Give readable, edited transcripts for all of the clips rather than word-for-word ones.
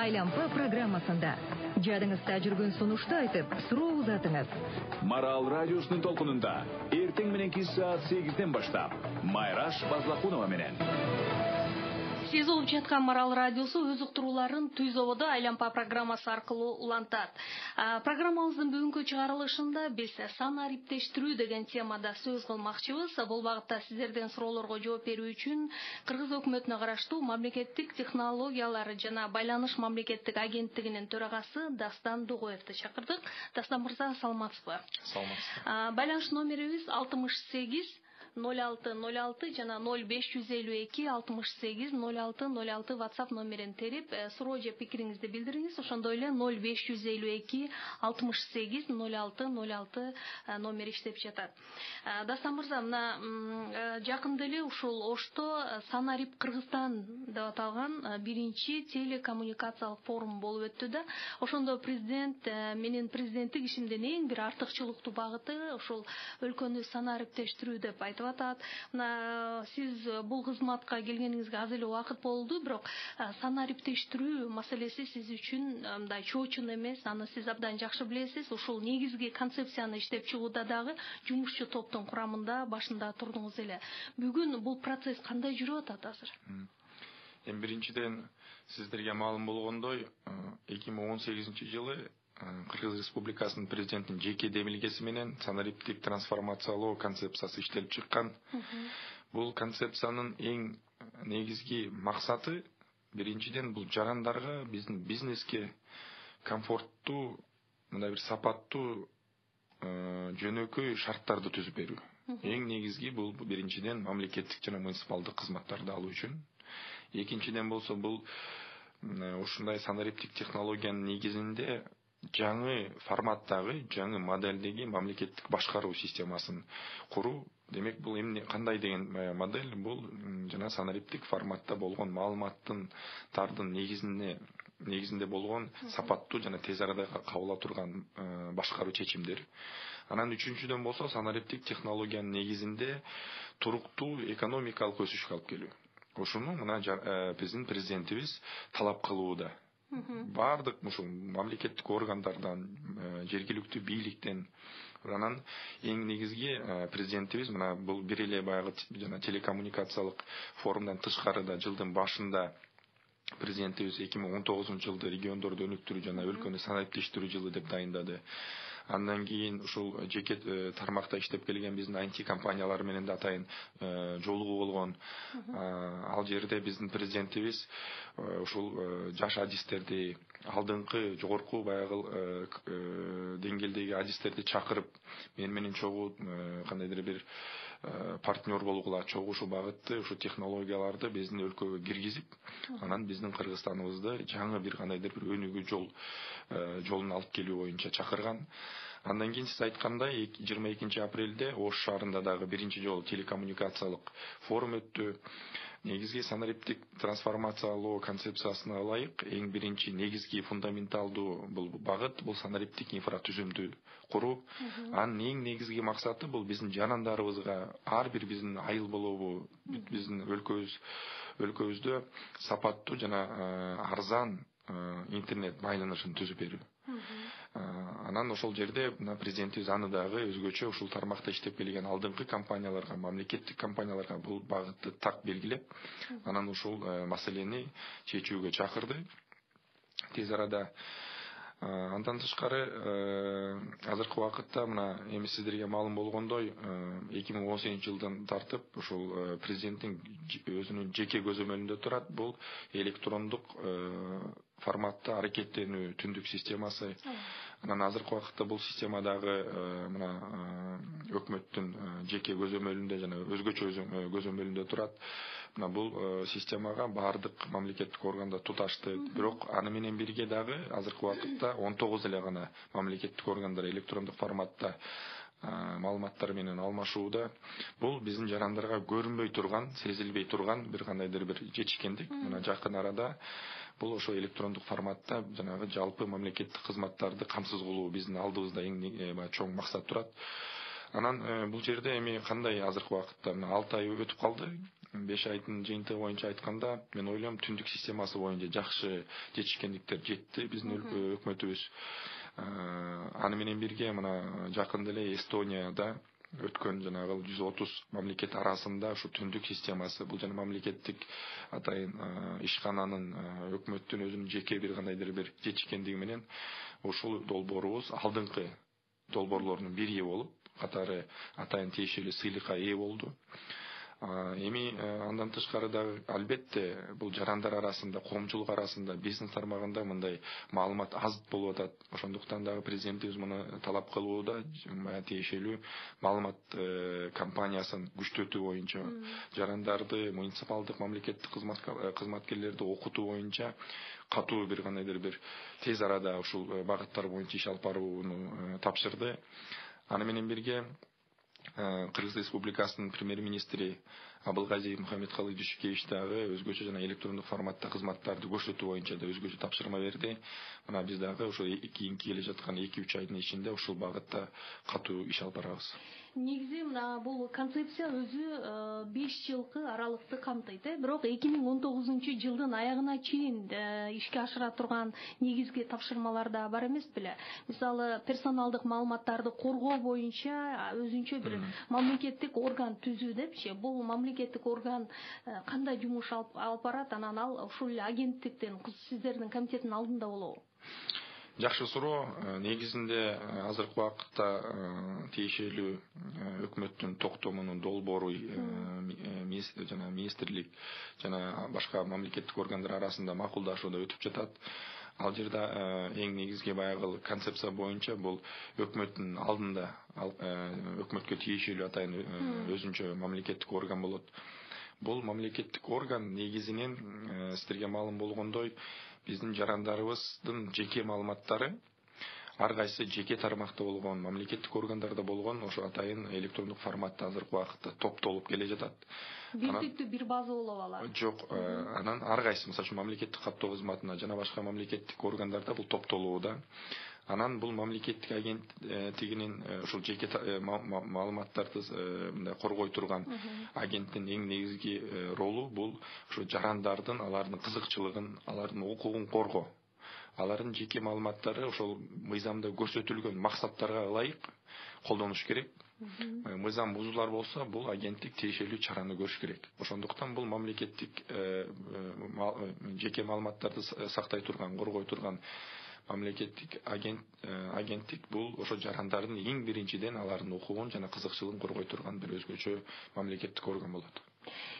Айлампа программасында жадыңызда жүргөн сунушту айтып, суроо узатыңыз. Марал радиосунун толкунунда эртең мененки саат 8ден баштап Майраш Базлакунова менен. Сиз угуп жаткан Марал радиосу өз уктурууларын Түз ободо Айлампа программасы аркылуу улантат. Программабыздын бүгүнкү чыгарылышында биз санариптештирүү деген темада сөз кылмакчыбыз. Бул багытта сиздерден суроолорго жооп берүү үчүн Кыргыз өкмөтүнө караштуу Мамлекеттик технологиялар жана байланыш мамлекеттик агенттигинин төрагасы Дастан Дугоевди чакырдык. Дастан мырза, саламатсызбы? Саламатсыз. Байланыш номерибиз 68 0606 жана 0552 68 0606 WhatsApp номерин терип, суроо же пикириңизди билдириңиз. Ошондой эле 0552 68 0606 номер иштеп жатат. Дастан мырза, мына жакында эле ушул Ошто Санарип Кыргызстан деп аталган биринчи телекоммуникациялык форум болуп өттү да. Ошондо президент менин президенттик ишимдин эң бир артыкчылыктуу багыты ушул өлкөнү санариптештирүү деп айтып атат. Мына сиз бул кызматка келгениңизге аз эле убакыт болду, бирок санариптештирүү маселеси сиз үчүн мындай чоочун эмес, аны сиз абдан жакшы билесиз. Ушул негизги концепцияны иштеп чыгууда дагы жумушчу топтун курамында башында турдуңуз эле. Бүгүн бул процесс кандай жүрүп атат азыр? Эми биринчиден сиздерге маалым болгондой, 2018-жылы Кыргыз Республикасынын президентинин жеке демилгеси менен санариптик трансформациялоо концепциясы иштелип чыккан. Бул концепциянын эң негизги максаты биринчиден бул жарандарга, биздин бизнеске комфорттуу, мындай бир сапаттуу, жөнөкөй шарттарды түзүп берүү. Эң негизги бул биринчиден мамлекеттик жана муниципалдык кызматтарды алуу үчүн. Экинчиден болсо бул ушундай санариптик технологиянын негизинде жаңы форматтагы, жаңы моделдеги мамлекеттик башкаруу системасын куруу. Демек, бул эмне кандай деген модель? Бул жана санариптик форматта болгон маалыматтардын негизинде болгон сапаттуу жана тез арада кабыл ала турган башкаруу чечимдер. Анан үчүнчүдөн болсо санариптик технологиянын негизинде туруктуу экономикалык өсүшкө алып келүү. Ошону мына биздин президентибиз талап кылууда. Бардык ушул мамлекеттик органдардан, жергиликтүү бийликтен, анан эң негизги президентибиз мына бул бир эле баягы жана телекоммуникациялык форумдан тышкарыда жылдын башында президентибиз 2019-жылды региондорду өнүктүрүү жана өлкөнү санариптештирүү жылы деп дайындады. Андан кийин ушул жеке тармакта иштеп келген биздин IT компаниялар менен да атайын жолугуу болгон. Ал жерде биздин президентибиз ушул жаш адистерди, алдыңкы жогорку баягы деңгээлдеги адистерди чакырып, менен чогуу кандайдыр бир партнер болгула, чогуу ушул багытты, ушул технологияларды биздин өлкөгө киргизип, анан биздин Кыргызстаныбызды жаңы бир кандайдыр бир өнүгүү жолуна алып келүү боюнча чакырган. Андан кийин сиз айткандай 22 апрелде Ош шаарында дагы биринчи жолу телекоммуникациялык форум өттү. Негизги санариптик трансформациялоо концепциясына ылайык эң биринчи негизги фундаменталдуу бул багыт бул санариптик инфратүзүмдү куруу. Анын эң негизги максаты бул биздин жарандарыбызга ар бир биздин айыл болобу, биздин өлкөбүздө сапаттуу жана арзан интернет байланышын түзүп берүү. Анан ошол жерде президентибиз аны дагы өзгөчө ушул тармакта иштеп келген алдыңкы компанияларга, мамлекеттик компанияларга бул багытты так белгилеп, анан ушул маселени чечүүгө чакырды. Тез арада андан тышкары азыркы убакытта мына эми сиздерге маалым болгондой 2018-жылдан тартып ушул президенттин өзүнүн жеке көзөмөлүндө турат бул электрондук форматта аракеттенүү түндүк системасы. Анан азыркы убакытта бул система дагы мына өкмөттүн жеке көзөмөлүндө жана өзгөчө көзөмөлүндө турат. Мына бул системага бардык мамлекеттик органдар туташты. Бирок аны менен бирге дагы азыркы убакытта 19 эле гана мамлекеттик органдар электрондук форматта маалыматтар менен алмашууда. Бул биздин жарандарга көрүнбөй турган, сезилбей турган бир кандайдыр бир жетишкендик. Мына жакын арада бул ошо электрондук форматта жанагы жалпы мамлекеттик кызматтарды камсыз кылуу биздин алдыбызда эң чоң максат турат. Анан бул жерде эми кандай азыркы убакытта 6 ай өтүп калды. 5 айдын жыйынтыгы боюнча айтканда, мен ойлойм түндүк системасы боюнча жакшы жетишкендиктер жетти биздин өкмөтүбүз. Аны менен бирге мына жакында эле Эстонияда өткөн жанагы 130 мамлекет арасында ушу түндүк системасы, бул жана мамлекеттик атайын ишкананын өкмөттүн өзүнүн жеке бир кандайдыр бир жетишкендиги менен ушул долбоорубуз алдыңкы долбоорлордун бири болуп, катары атайын тиешелүү сыйлыкка ээ болду. Эми андан тышкары дагы албетте бул жарандар арасында, коомчулук арасында, бизнес тармагында мындай маалымат аз болуп атат. Ошондуктан дагы президентибиз муну талап кылууда, тиешелүү маалымат кампаниясын күчтөтүү боюнча, жарандарды, муниципалдык мамлекеттик кызматкерлерди окутуу боюнча катуу бир кандайдыр бир тез арада ушул багыттар боюнча иш алып барууну тапшырды. Аны менен бирге Кыргыз Республикасынын премьер-министри Абылгази Мухаммедкалый Дүйшүкевич дагы өзгөчө жана электрондук форматта кызматтарды көрсөтүү боюнча да өзгөчө тапшырма берди. Мына биз дагы ошо кийинки келе жаткан 2-3 айдын ичинде ушул багытта катуу иш алып барабыз. Негизи мына бул концепция өзү 5 жылкы аралыкты камтыйт, бирок 2019 жылдын аягына чейин ишке ашыра турган негизги тапшырмалар да бар эмес беле? Мисалы, персоналдык маалыматтарды коргоо боюнча өзүнчө бир мамлекеттик орган түзүү депчи. Бул мамлекеттик орган кандай жумуш алып барат, анан ал ушул агенттиктин, сиздердин комитеттин алдында болобу? Жакшы суроо. Негизинде азыркы убакытта тиешелүү өкмөттүн токтомунун долбоору жана министрлик жана башка мамлекеттик органдар арасында макулдашууда өтүп жатат. Ал жерде эң негизги баягы концепция боюнча бул өкмөттүн алдында өкмөткө тиешелүү атайын өзүнчө мамлекеттик орган болот. Бул мамлекеттик орган негизинен сиздерге маалым болгондой биздин жарандарыбыздын жеке маалыматтары ар кайсы жеке тармакта болгон, мамлекеттик органдарда болгон ошо атайын электрондук форматта азыркы убакытта топтолуп келе жатат. Бирдиктүү бир база болуп алат. Жок, анан ар кайсы, мисалы үчүн мамлекеттик каттоо кызматына жана башка мамлекеттик органдарда бул топтолууда. Анан бул мамлекеттик агенттигинин ушул жеке маалыматтарды мындай коргой турган агенттин эң негизги ролу бул ушу жарандардын, алардын кызыкчылыгын, алардын укугун коргоо. Алардын жеке маалыматтары ошол мыйзамда көрсөтүлгөн максаттарга ылайык колдонуш керек. Мыйзам бузулар болсо, бул агенттик тиешелүү чараны көрүш керек. Ошондуктан бул мамлекеттик жеке маалыматтарды сактай турган, коргой турган мамлекеттик агенттик бул ошо жарандардын эң биринчиден алардын укугун жана кызыкчылыгын коргой турган бир өзгөчө мамлекеттик орган болот.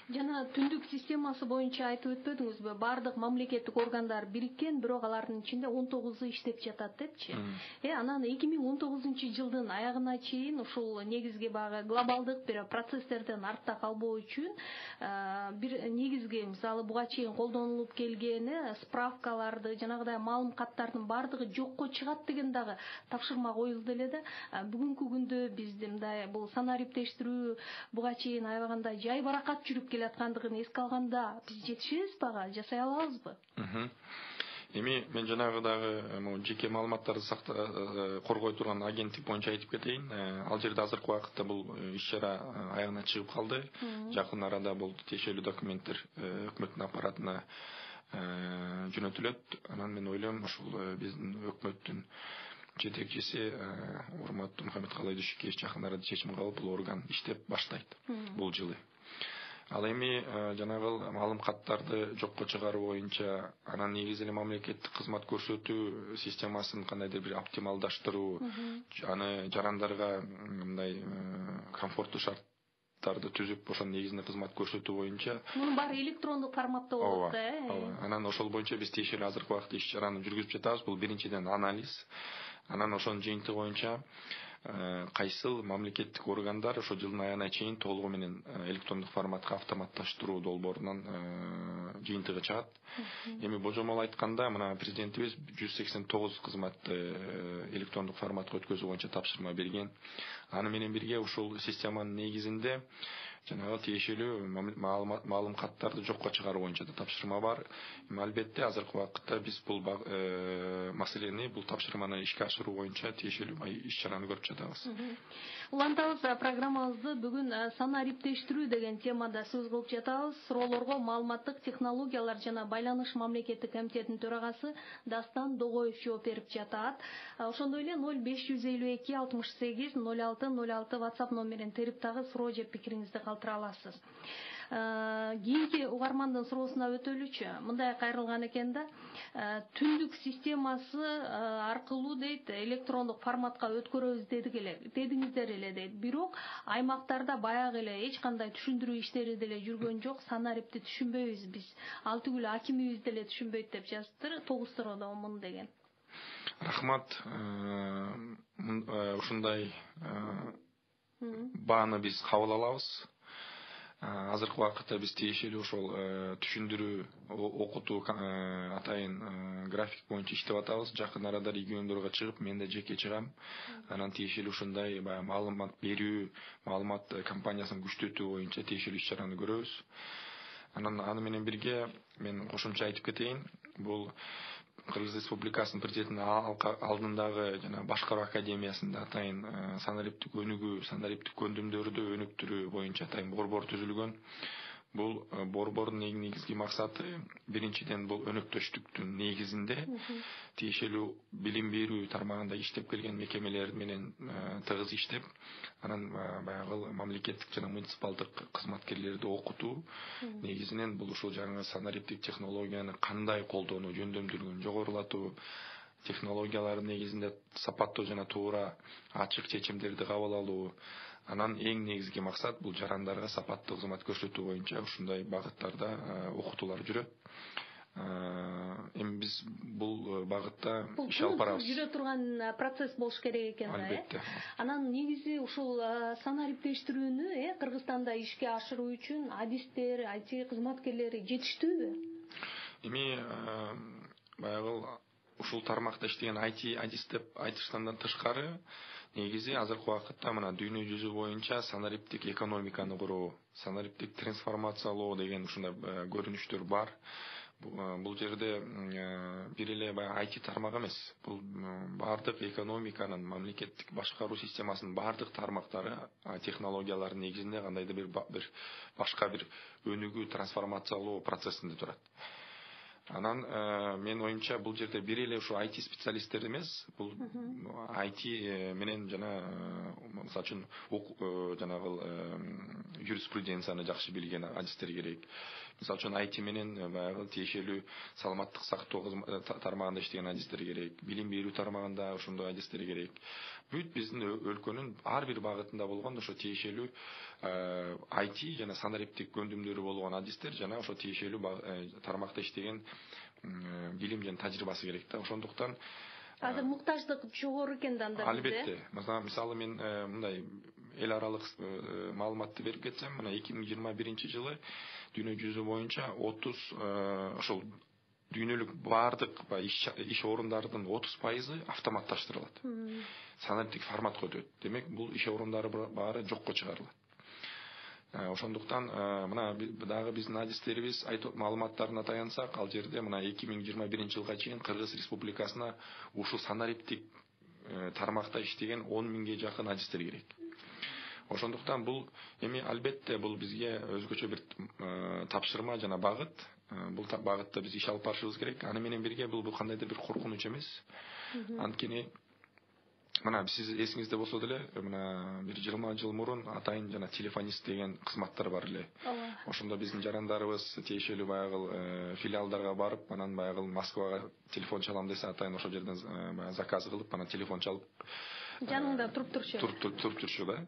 Жана түндүк системасы боюнча айтып өтпөдүңүзбү? Бардык мамлекеттик органдар бириккен, бирок алардын ичинде 19 иштеп жатат депчи. Анан 2019 жылдын аягына чейин ушул негизги багы глобалдык бир процесстерден артта калбоо үчүн бир негизги, мисалы, буга чейин колдонулуп келген справкаларды, жанагыдай маалым каттардын бардыгы жокко чыгат деген дагы тапшырма коюлду эле да. Бүгүнкү күндө бизде мындай бул санариптештирүү буга чейин аябаганда жай баракат жүрүп келаткандыгын эске алганда биз жетишебизби ага, жасай алабызбы? Эми мен жанагы дагы жеке маалыматтарды коргой турган агенттик боюнча айтып кетейин. Ал жерде азыркы убакытта бул иш-чара аягына чыгып калды. Жакын арада бул тиешелүү документтер өкмөттүн аппаратына жөнөтүлөт. Анан мен ойлойм ушул биздин өкмөттүн жетекчиси урматтуу Мухаммедкалый Дүйшүкевич жакын арада чечим кабыл бул орган иштеп баштайт бул жылы. Ал эми жанагы маалым каттарды жокко чыгаруу боюнча, анан негизи эле мамлекеттик кызмат көрсөтүү системасын кандайдыр бир оптималдаштыруу, аны жарандарга мындай комфорттуу шарттарды түзүп, ошонун негизинде кызмат көрсөтүү боюнча. Мунун баары электрондук форматта болот да. Анан ошол боюнча биз тиешелүү азыркы убакытта иш-чараны жүргүзүп жатабыз. Бул биринчиден анализ. Анан ошонун жыйынтыгы боюнча кайсыл мамлекеттик органдар ошо жылдын аягына чейин толугу менен электрондук форматка автоматташтыруу долбоорунан жыйынтыгы чыгат. Эми божомол айтканда, мына президентибиз 189 кызматты электрондук форматка өткөзүү боюнча тапшырма берген. Аны менен бирге ушул системанын негизинде жанагы тиешелүү маалым каттарды жокко чыгаруу боюнча да тапшырма бар. Албетте азыркы убакытта биз бул маселени, бул тапшырманы ишке ашыруу боюнча тиешелүү иш-чараны көрүп жатабыз. жатабыз. Улантабыз программабызды бүгүн саны ариптештирүү деген темада сөз кылып жатабыз. Суроолорго маалыматтык технологиялар жана байланыш мамлекеттик комитетинин төрагасы Дастан Догоев жооп берип жатат. Ошондой эле 0552 68 06 06 WhatsApp номерин терип дагы суроо же пикириңизди калтыра аласыз. Кийинки угармандын суроосуна өтөлүчү. Мындай кайрылган экен да, түндүк системасы аркылуу дейт электрондук форматка өткөрөбүз дедиңиздер эле дейт. Бирок аймактарда баягы эле эч кандай түшүндүрүү иштери деле жүргөн жок. Санарипти түшүнбөйбүз биз. Ал түгүл акимибиз деле түшүнбөйт деп жазыптыр. Тогуз-мун деген. Рахмат. Ушундай бааны биз кабыл алабыз. Азыркы убакытта биз тиешелүү ошол түшүндүрүү окутуу атайын график боюнча иштеп атабыз. Жакын арада региондорго чыгып, мен да жеке чыгам. Анан тиешелүү ушундай маалымат берүү, маалымат кампаниясын күчтөтүү боюнча тиешелүү иш-чараны көрөбүз. Анан аны менен бирге мен кошумча айтып кетейин. Бул Кыргыз Республикасынын президентинин алдындагы жана башкаруу академиясында атайын санариптик өнүгүү, санариптик көндүмдөрдү өнүктүрүү боюнча атайын борбор түзүлгөн. Бул борбордун негизги максаты биринчиден бул өнөктөштүктүн негизинде тиешелүү билим берүү тармагында иштеп келген мекемелер менен тыгыз иштеп, анан баягы мамлекеттик жана муниципалдык кызматкерлерди окутуу негизинен бул ушул жаңы санариптик технологияны кандай колдонуу жөндөмдүүлүгүн жогорулатуу, технологиялардын негизинде сапаттуу жана туура ачык чечимдерди кабыл алуу. Анан эң негизги максат бул жарандарга сапаттуу кызмат көрсөтүү боюнча ушундай багыттарда окутуулар жүрөт. Эми биз бул багытта иш алып барабыз. Жүрө турган процесс болуш керек экен да. Албетте. Анан негизи ушул санариптештирүүнү Кыргызстанда ишке ашыруу үчүн адистер, IT кызматкерлери жетиштүүбү? Эми баягы ушул тармакта иштеген IT адистеп айтышкандан тышкары негизи азыркы убакытта мына дүйнө жүзү боюнча санариптик экономиканы куруу, санариптик трансформациялоо деген ушундай көрүнүштөр бар. Бул жерде бир эле баягы IT тармак эмес. Бул бардык экономиканын, мамлекеттик башкаруу системасынын бардык тармактары технологиялардын негизинде кандайдыр бир башка бир өнүгүү, трансформациялоо процессинде турат. Анан мен оюмча бул жерде бир эле ушу IT специалисттер эмес, бул IT менен жана мисалы үчүн жанагы юриспруденцияны жакшы билген адистер керек. Мисалы үчүн IT менен баягы тиешелүү саламаттык сактоо тармагында иштеген адистер керек, билим берүү тармагында ошондой адистер керек. Бүт биздин өлкөнүн ар бир багытында болгон ошо тиешелүү IT жана санариптик көндүмдөрү болгон адистер жана ошо тиешелүү тармакта иштеген билим жана тажрыйбасы керек да. Ошондуктан азыр муктаждык жогору экен да анда. Албетте. Мисалы мен мындай эл аралык маалыматты берип кетсем, мына 2021 дүйнө жүзү боюнча 30 ошол дүйнөлүк бардык иш орундардын 30% автоматташтырылат. Санариптик форматка өтөт. Демек, бул иш орундары баары жокко чыгарылат. Ошондуктан мына дагы биздин адистерибиз маалыматтарына таянсак, ал жерде мына 2021 жылга чейин Кыргыз Республикасына ушул санариптик тармакта иштеген 10 миңге жакын адистер керек. Ошондуктан бул эми албетте бул бизге өзгөчө бир тапшырма жана багыт. Бул багытта биз иш алып барышыбыз керек. Аны менен бирге бул кандайдыр бир коркунуч эмес. Анткени мына сиз эсиңизде болсо деле, мына бир 20 жыл мурун атайын жана телефонист деген кызматтар бар эле. Ошондо биздин жарандарыбыз тиешелүү баягы филиалдарга барып, анан баягы Москвага телефон чалам десе, атайын ошол жерден заказ кылып, анан телефон чалып жаныңда туруп турчу. Туруп турчу да.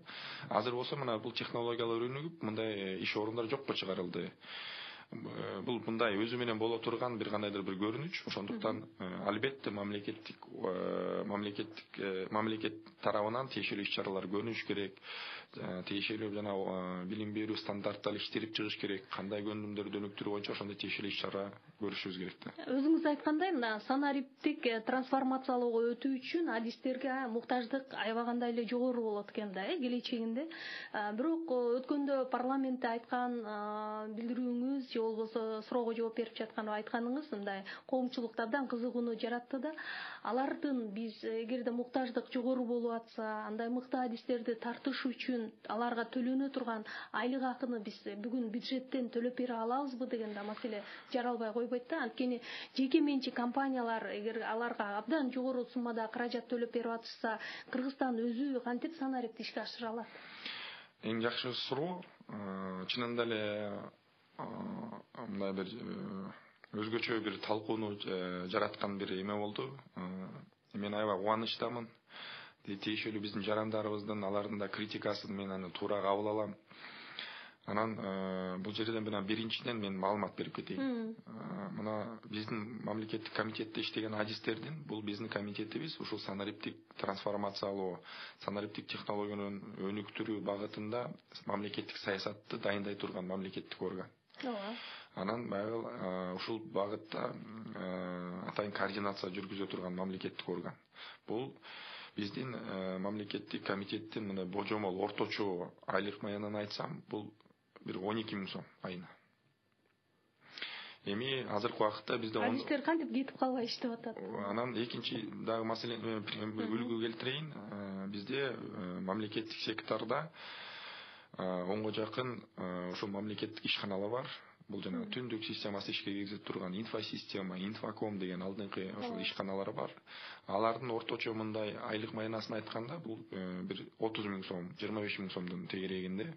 Азыр болсо мына бул технологиялар өнүгүп, мындай иш орундар жокко чыгарылды. Бул мындай өзү менен боло турган бир кандайдыр бир көрүнүч. Ошондуктан албетте мамлекет тарабынан тиешелүү иш-чаралар көрүнүш керек. Тиешелүү жана билим берүү стандарттары иштелип чыгыш керек. Кандай көндүмдөрдү өнүктүрүү боюнча ошондой тиешелүү иш-чара көрүшүбүз керек да. Өзүңүз айткандай, мына санариптик трансформациялоого өтүү үчүн адистерге муктаждык аябагандай эле жогору болот экен да, келечегинде. Бирок өткөндө парламентте айткан билдирүүңүз же же болбосо суроого жооп берип жаткан айтканыңыз мындай коомчулукта абдан кызыгууну жаратты да. Алардын биз эгерде муктаждык жогору болуп атса, андай мыкты адистерди тартыш үчүн аларга төлөнө турган айлык акыны биз бүгүн бюджеттен төлөп бере алабызбы деген да маселе жаралбай койбойт да. Анткени жеке менчик компаниялар эгер аларга абдан жогору суммада каражат төлөп берип атышса, Кыргызстан өзү кантип санариптик ишке ашыра алат? Эң жакшы суроо. Чынында эле мындай бир өзгөчө бир талкууну жараткан бир эме болду. Мен аябай кубанычтамын. Тиешелүү биздин жарандарыбыздын алардын да критикасын мен аны туура кабыл алам. Анан бул жерден менен биринчиден мен маалымат берип кетейин. Мына биздин мамлекеттик комитетте иштеген адистердин, бул биздин комитетибиз ушул санариптик трансформациялоо, санариптик технологиянын өнүктүрүү багытында мамлекеттик саясатты дайындай турган мамлекеттик орган. Анан баягы ушул багытта атайын координация жүргүзө турган мамлекеттик орган. Бул биздин мамлекеттик комитеттин мына божомол орточо айлык маянын айтсам, бул бир 12 000 сом айына. Эми азыркы убакытта бизде адистер кантип кетип калбай иштеп атат? Анан экинчи дагы маселени үлгү келтирейин. Бизде мамлекеттик секторда 10га жакын ошол мамлекеттик ишканалар бар. Бул жана түндүк системасы ишке киргизип турган инфосистема, инфоком деген алдыңкы ошол ишканалар бар. Алардын орточо мындай айлык маянасын айтканда, бул бир 30 000 сом, 25 000 сомдун тегерегинде.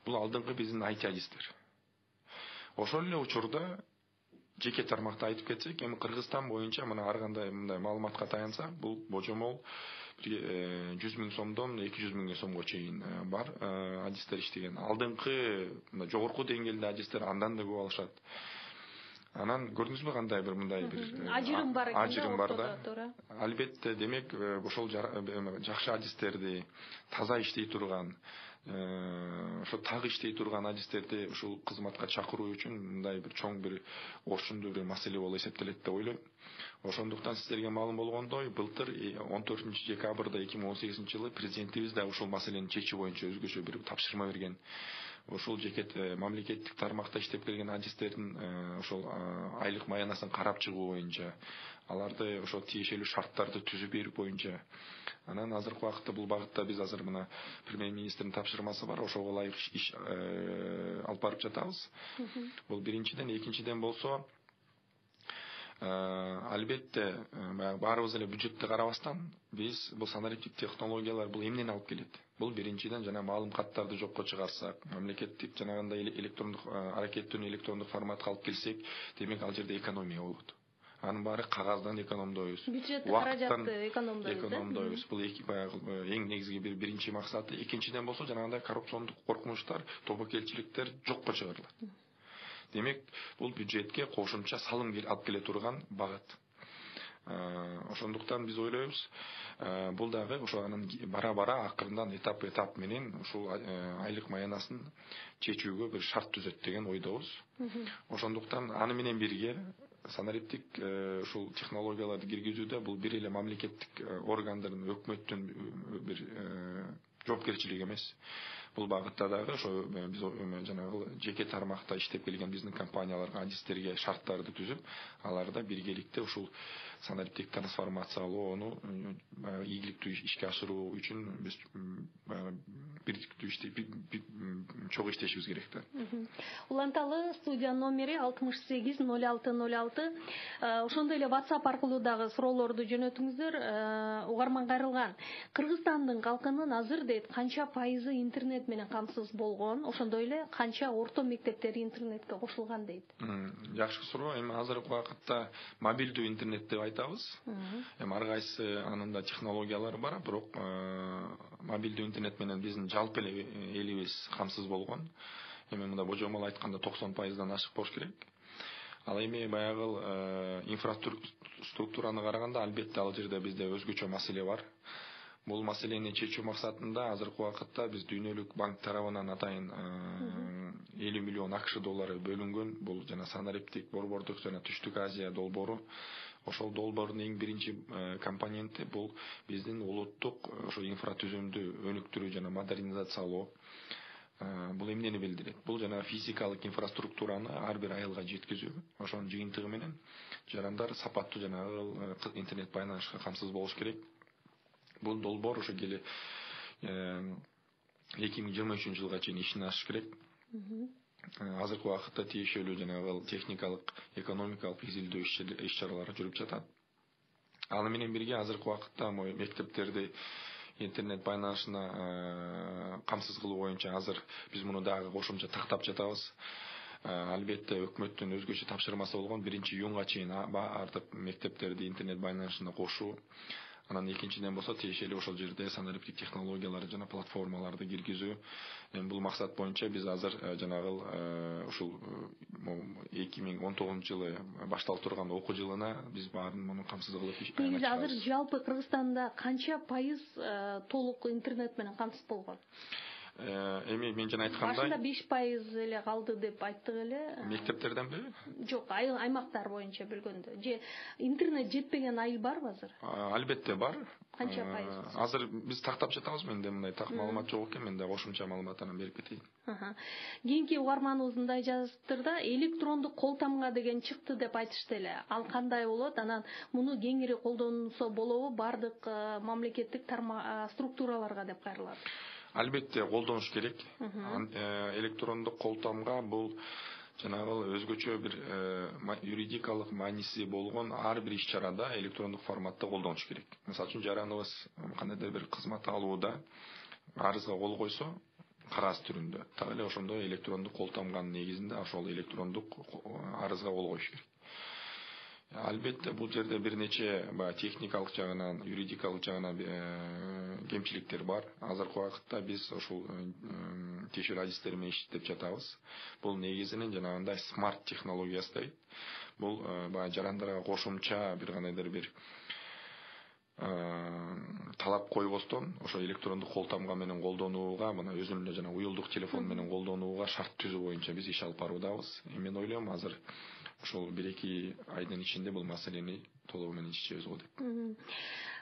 Бул алдыңкы биздин IT адистер. Ошол эле учурда жеке тармакта айтып кетсек, эми Кыргызстан боюнча мына ар кандай мындай маалыматка таянсак, бул божомол 100 000 сомдон 200 000 сомго чейин бар адистер иштеген. Алдыңкы жогорку деңгээлде адистер андан да көп алышат. Анан көрдүңүзбү кандай бир мындай бир ажырым бар экен. Ажырым бар да. Албетте, демек ошол жакшы адистерди, таза иштей турган, ошо так иштей турган адистерди ушул кызматка чакыруу үчүн мындай бир чоң бир орчундуу бир маселе болуп эсептелет деп ойлойм. Ошондуктан сиздерге маалым болгондой, былтыр 14 декабрда 2018 жылы президентибиз да ушул маселени чечүү боюнча өзгөчө бир тапшырма берген. Ушул жеке мамлекеттик тармакта иштеп келген адистердин ошол айлык маянасын карап чыгуу боюнча, аларды ошо тиешелүү шарттарды түзүп берүү боюнча. Анан азыркы убакытта бул багытта биз азыр мына премьер-министрдин тапшырмасы бар, ошого ылайык иш алып барып жатабыз. Бул биринчиден, экинчиден болсо, албетте баарыбыз эле бюджетти карабастан, биз бул санариптик технологиялар бул эмнени алып келет? Бул биринчиден жана маалым каттарды жокко чыгарсак, мамлекеттик жанагындай электрондук аракеттүүнү электрондук форматка алып келсек, демек ал жерде экономия болот. Анын баары кагаздан экономдойбуз. Бюджет каражатты экономдойбуз. Бул эң негизги биринчи максаты. Экинчиден болсо жанагындай коррупциондук коркунучтар, тобокелчиликтер жокко чыгарылат. Демек, бул бюджетке кошумча салым алып келе турган багыт. Ошондуктан биз ойлойбуз, бул дагы ошо анын бара-бара акырындан этап менен ушул айлык маянасын чечүүгө бир шарт түзөт деген ойдобуз. Ошондуктан аны менен бирге санариптик ушул технологияларды киргизүүдө бул бир эле мамлекеттик органдардын, өкмөттүн бир жоопкерчилиги эмес. Бул багытта дагы ошо биз жанагы жеке тармакта иштеп келген биздин компанияларга, адистерге шарттарды түзүп, аларда биргеликте ушул санариптик трансформациялоону ийгиликтүү ишке ашыруу үчүн биз бирдиктүү чогуу иштешибиз керек да. Уланталы студия номери 680606. Ошондой эле WhatsApp аркылуу дагы суроолорду жөнөтүңүздөр. Угарман кайрылган. Кыргызстандын калкынын азыр дейт канча пайызы интернет менен камсыз болгон, ошондой эле канча орто мектептер интернетке кошулган дейт. Жакшы суроо. Эми азыркы убакытта мобилдүү интернет деп айтабыз. Эми ар кайсы анын да технологиялары бар, бирок мобилдүү интернет менен биздин жалпы эле элибиз камсыз болгон. Эми мында божомол айтканда 90%дан ашык болуш керек. Ал эми баягы инфраструктураны караганда албетте ал жерде бизде өзгөчө маселе бар. Бул маселени чечүү максатында азыркы убакытта биз Дүйнөлүк банк тарабынан атайын 50 миллион АКШ доллары бөлүнгөн. Бул жана санариптик борбордук жана Түштүк Азия долбоору. Ошол долбоордун эң биринчи компоненти бул биздин улуттук ошо инфратүзүмдү өнүктүрүү жана модернизациялоо. бул эмнени билдирет? Бул жана физикалык инфраструктураны ар бир айылга жеткизүү. Ошонун жыйынтыгы менен жарандар сапаттуу жанагы интернет байланышка камсыз болуш керек. Бул долбоор ошо келе 2023 жылга чейин ишин ашыш керек. Азыркы убакытта тиешелүү жанагы техникалык, экономикалык изилдөө иш-чаралары жүрүп жатат. Аны менен бирге азыркы убакытта мектептерди интернет байланышына камсыз кылуу боюнча азыр биз муну дагы кошумча тактап жатабыз. Албетте өкмөттүн өзгөчө тапшырмасы болгон 1-июнга чейин артып мектептерди интернет байланышына кошуу. Анан экинчиден болсо тиешелүү ошол жерде санариптик технологияларды жана платформаларды киргизүү. Бул максат боюнча биз азыр жанагы ушул 2019 жылы башталып турган окуу жылына биз баарын муну камсыз кылып негизи азыр жалпы Кыргызстанда канча пайыз толук интернет менен камсыз болгон? Эми мен жана айткандай башында 5% эле калды деп айттык эле. Мектептерденби? Жок, аймактар боюнча билгөндө. Же интернет жетпеген айыл барбы азыр? Албетте бар. Канча пайыз? Азыр биз тактап жатабыз, менде мындай так маалымат жок экен, менде кошумча маалымат анан берип кетейин. Кийинки угарманыбыз мындай жазыптыр да, электрондук кол тамга деген чыкты деп айтышты эле. Ал кандай болот? Анан муну кеңири колдонсо болобу бардык мамлекеттик структураларга деп кайрылат. Албетте колдонуш керек. Электрондук кол тамга бул жанагы өзгөчө бир юридикалык мааниси болгон ар бир иш-чарада электрондук форматта колдонуш керек. Мисалы үчүн жараныбыз кандайдыр бир кызмат алууда арызга кол койсо, кагаз түрүндө, так эле ошондой электрондук кол тамганын негизинде ошол электрондук арызга кол коюш керек. Албетте бул жерде бир нече техникалык жагынан, юридикалык жагынан кемчиликтер бар. Азыркы убакытта биз ошол тиешелүү адистер менен иштеп жатабыз. Бул негизинен жанагындай смарт технологиясы дейт. Бул жарандарга кошумча бир кандайдыр бир талап койбостон ошо электрондук кол тамга менен колдонууга, мына өзүнүн эле жана уюлдук телефон менен колдонууга шарт түзүү боюнча биз иш алып баруудабыз. Мен ойлойм азыр ошол 1-2 айдын ичинде бул маселени толугу менен чечебиз го деп.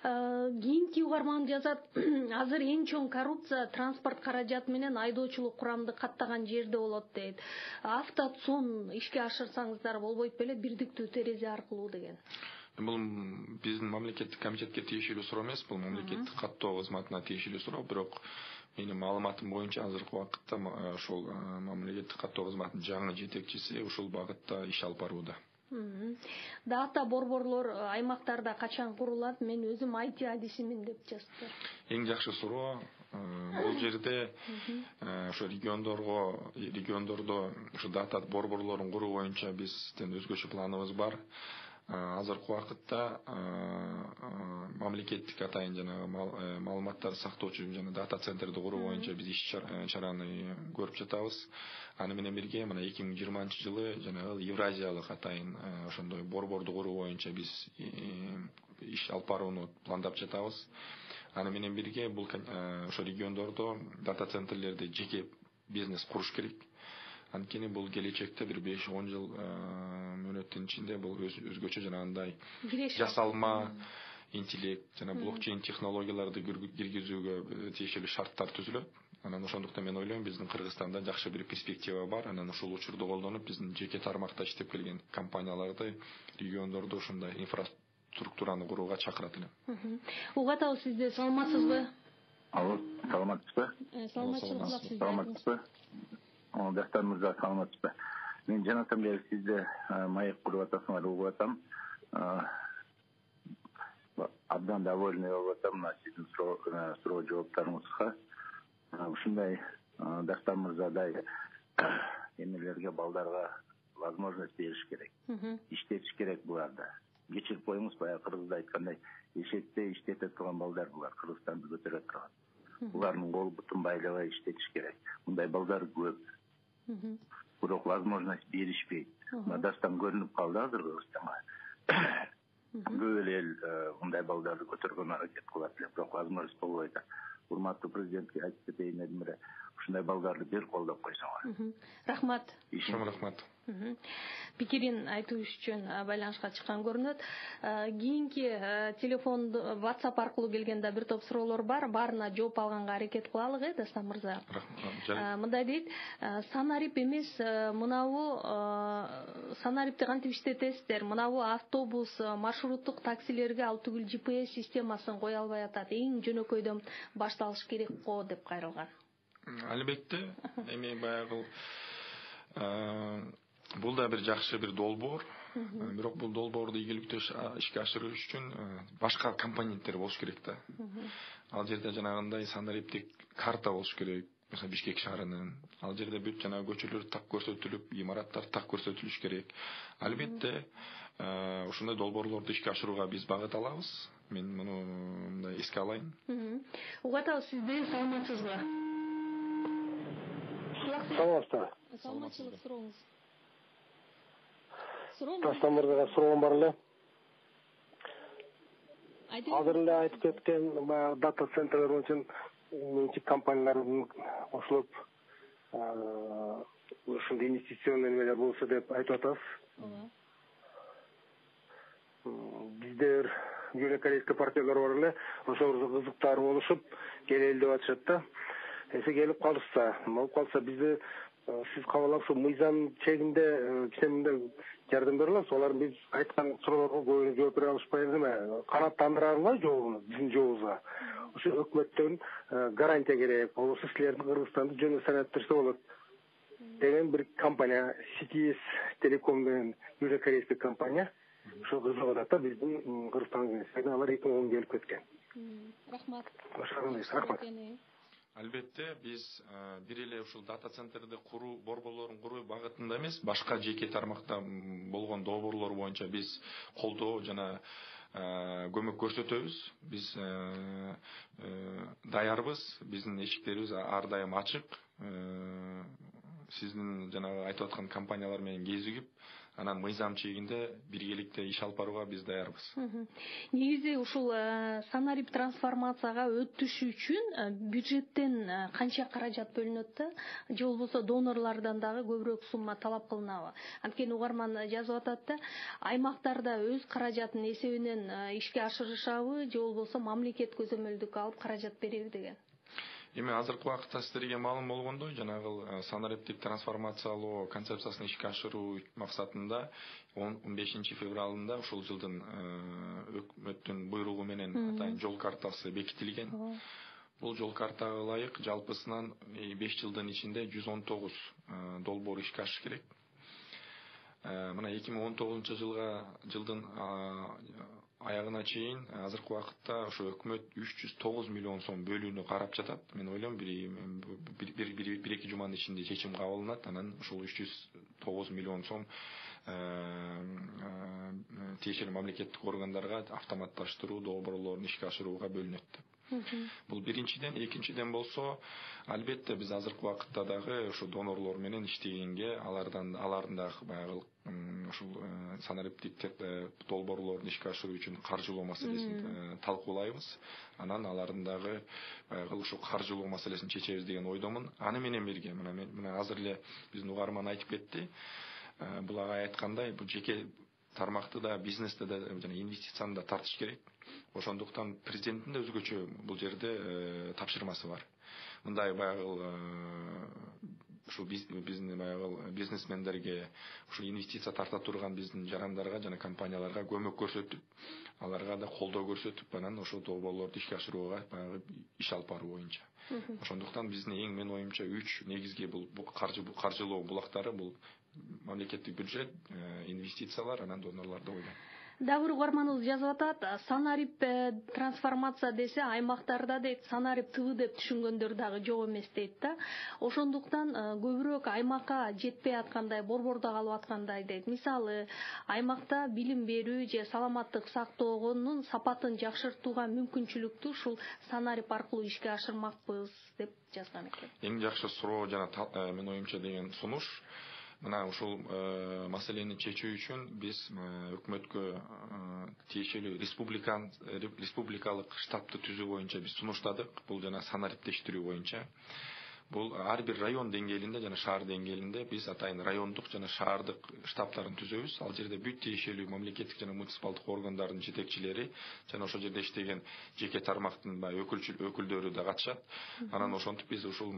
Кийинки угарман жазат, азыр эң чоң коррупция транспорт каражаты менен айдоочулук курамды каттаган жерде болот дейт. Автоцон ишке ашырсаңыздар болбойт беле, бирдиктүү терезе аркылуу деген. Бул биздин мамлекеттик комитетке тиешелүү суроо эмес, бул мамлекеттик каттоо кызматына тиешелүү суроо, бирок менин маалыматым боюнча азыркы убакытта ошол мамлекеттик каттоо кызматынын жаңы жетекчиси ушул багытта иш алып барууда. Дата борборлор аймактарда качан курулат? Мен өзүм IT адисимин деп жазыптыр. Эң жакшы суроо. Бул жерде ошо региондордо ошо дата борборлорун куруу боюнча биздин өзгөчө планыбыз бар. Азыркы убакытта мамлекеттик атайын жана маалыматтарды сактоочу жана дата центрди куруу боюнча биз иш-чараны көрүп жатабыз. Аны менен бирге мына 2020 жылы жанагы Евразиялык атайын ошондой борборду куруу боюнча биз иш алып барууну пландап жатабыз. Аны менен бирге бул ошо региондордо дата центрлерди жеке бизнес куруш керек. Анткени бул келечекте бир 5-10 жыл мөөнөттүн ичинде бул өзгөчө жанагындай жасалма интеллект жана блокчейн технологияларды киргизүүгө тиешелүү шарттар түзүлөт. Анан ошондуктан мен ойлойм биздин Кыргызстанда жакшы бир перспектива бар. Анан ушул учурду колдонуп биздин жеке тармакта иштеп келген компанияларды региондордо ушундай инфраструктураны курууга чакырат элем. Угатабыз сизди, саламатсызбы? Алло, саламатсызбы? Саламатсызбы. Дастан мырза, саламатсызбы? Мен жанатам бери сизде маек куруп атасыңар, угуп атам. Абдан довольный болуп атам мына сиздин суроо жооптарыңызга. Ушундай Дастан мырзадай эмелерге, балдарга возможность бериш керек. Иштетиш керек буларды. Кечирип коюңуз, баягы кыргызда айткандай, эшекте иштете турган балдар булар, Кыргызстанды көтөрө турган. Булардын кол бутун байлабай иштетиш керек. Мындай балдар көп. Бирок возможность беришпейт. Дастан көрүнүп калды азыр Кыргызстанга. Көп эле эл мындай балдарды көтөргөнгө аракет кылат эле, бирок возможность болбой атат. Урматтуу президентке айтып кетейин эле, ушундай балдарды бир колдоп койсоңор. Рахмат. Чоң рахмат. Пикирин айтуу үчүн байланышка чыккан көрүнөт. Кийинки телефон WhatsApp аркылуу келген да бир топ суроолор бар. Баарына жооп алганга аракет кылалык, Дастан мырза. Мындай дейт, санарип эмес, мынабу санарипти кантип иштетесиздер? Мынабу автобус, маршруттук таксилерге ал түгүл GPS системасын кое албай атат. Эң жөнөкөйдөн башталыш керек го деп кайрылган. Албетте, эми баягы бул да бир жакшы бир долбоор. Бирок бул долбоорду ийгиликтүү ишке ашыруу үчүн башка компоненттер болуш керек да. Ал жерде жанагындай санариптик карта болуш керек. Mesela Бишкек шаарынын ал жерде бүт жана көчөлөр так көрсөтүлүп, имараттар так көрсөтүлүш керек. Албетте, ушундай долбоорлорду ишке ашырууга биз багыт алабыз. Мен муну мындай эске алайын. Угатабыз сизди, саламатсызбы? Саламатсызбы? Саламатчылык сурооңуз. Дастан мырзага суроом бар эле. Азыр эле айтып кеткен баягы дата центрлер боюнча менчик компаниялардын кошулуп ушундай инвестиционный немелер болсо деп айтып атабыз. Биздер южнокорейский партнерлер бар эле, ошолорго кызыктар болушуп келели деп атышат да. Эсе келип калышса, болуп калса бизди сиз кабыл алып, мыйзам чегинде кичине жардам бере аласыз. Олар биз айткан суроолорго көбүнө жооп бере алышпай эме, канааттандырарга жообуну, биздин жообубузга. Ошо өкмөттөн гарантия керек. Болбосо силердин Кыргызстанды жөн санаттырса болот деген бир компания, CTS Telecom деген южнокорейский компания. Ошо кызыгып атат да биздин Кыргызстанга. Алар 2010 келип кеткен. Рахмат. Рахмат. Албетте, биз бир эле ушул дата центрди куруу, борборлорун куруу багытында эмес, башка жеке тармакта болгон долбоорлор боюнча биз колдоо жана көмөк көрсөтөбүз. Биз даярбыз, биздин эшиктерибиз ар дайым ачык. Сиздин жанагы айтып аткан компаниялар менен кезигип, анан мыйзам чегинде биргеликте иш алып барууга биз даярбыз. Негизи ушул санарип трансформацияга өтүш үчүн бюджеттен канча каражат бөлүнөт да, же болбосо донорлордон дагы көбүрөөк сумма талап кылынабы? Анткени угарман жазып атат да, аймактарда өз каражатын эсебинен ишке ашырышабы, же болбосо мамлекет көзөмөлдүк алып каражат береби деген. Эми азыркы убакытта сиздерге маалым болгондой, жанагы санариптик трансформациялоо концепциясын ишке ашыруу максатында 15 февралында ушул жылдын өкмөттүн буйругу менен атайын жол картасы бекитилген. Бул жол картага ылайык жалпысынан 5 жылдын ичинде 119 долбоор ишке ашыш керек. Мына 2019 жылдын аягына чейин азыркы убакытта ошо өкмөт 309 миллион сом бөлүүнү карап жатат. Мен ойлойм бир эки жуманын ичинде чечим кабылданат, анан ушул 309 миллион сом тиешелүү мамлекеттик органдарга автоматташтыруу долбоорлорун ишке ашырууга бөлүнөт. Бул биринчиден, экинчиден болсо, албетте биз азыркы убакытта дагы ошо донорлор менен иштегенге, алардын дагы баягы ушул санариптик долбоорлорун ишке ашыруу үчүн каржылоо маселесин талкуулайбыз. Анан алардын дагы баягы ушул каржылоо маселесин чечебиз деген ойдомун. Аны менен бирге мына азыр эле биздин угарман айтып кетти. Бул агай айткандай, бул жеке тармакты да, бизнести да жана инвестицияны да тартыш керек. Ошондуктан президенттин да өзгөчө бул жерде тапшырмасы бар. Мындай баягы ушул биздин баягы бизнесмендерге, ушул инвестиция тарта турган биздин жарандарга жана компанияларга көмөк көрсөтүп, аларга да колдоо көрсөтүп, анан ошол долбоорлорду ишке ашырууга баягы иш алып баруу боюнча. Ошондуктан биздин эң менин оюмча 3 негизги бул каржылоо булактары бул мамлекеттик бюджет, инвестициялар, анан донорлор деп ойлойм. Дагы бир угарманыбыз жазып атат, санарип трансформация десе аймактарда дейт, санарип ТВ деп түшүнгөндөр дагы жок эмес дейт да. Ошондуктан көбүрөөк аймакка жетпей аткандай, борбордо калып аткандай дейт. Мисалы, аймакта билим берүү же саламаттык сактоонун сапатын жакшыртууга мүмкүнчүлүктү ушул санарип аркылуу ишке ашырмакпыз деп жазган экен. Эң жакшы суроо жана менин оюмча деген сунуш. Мына ушул маселени чечүү үчүн биз өкмөткө тиешелүү республикалык штабты түзүү боюнча биз сунуштадык. Бул жана санариптештирүү боюнча. бул ар бир район деңгээлинде жана шаар деңгээлинде биз атайын райондук жана шаардык штабтарын түзөбүз. Ал жерде бүт тиешелүү мамлекеттик жана муниципалдык органдардын жетекчилери жана ошол жерде иштеген жеке тармактын өкүлдөрү да катышат. Анан ошентип биз ушул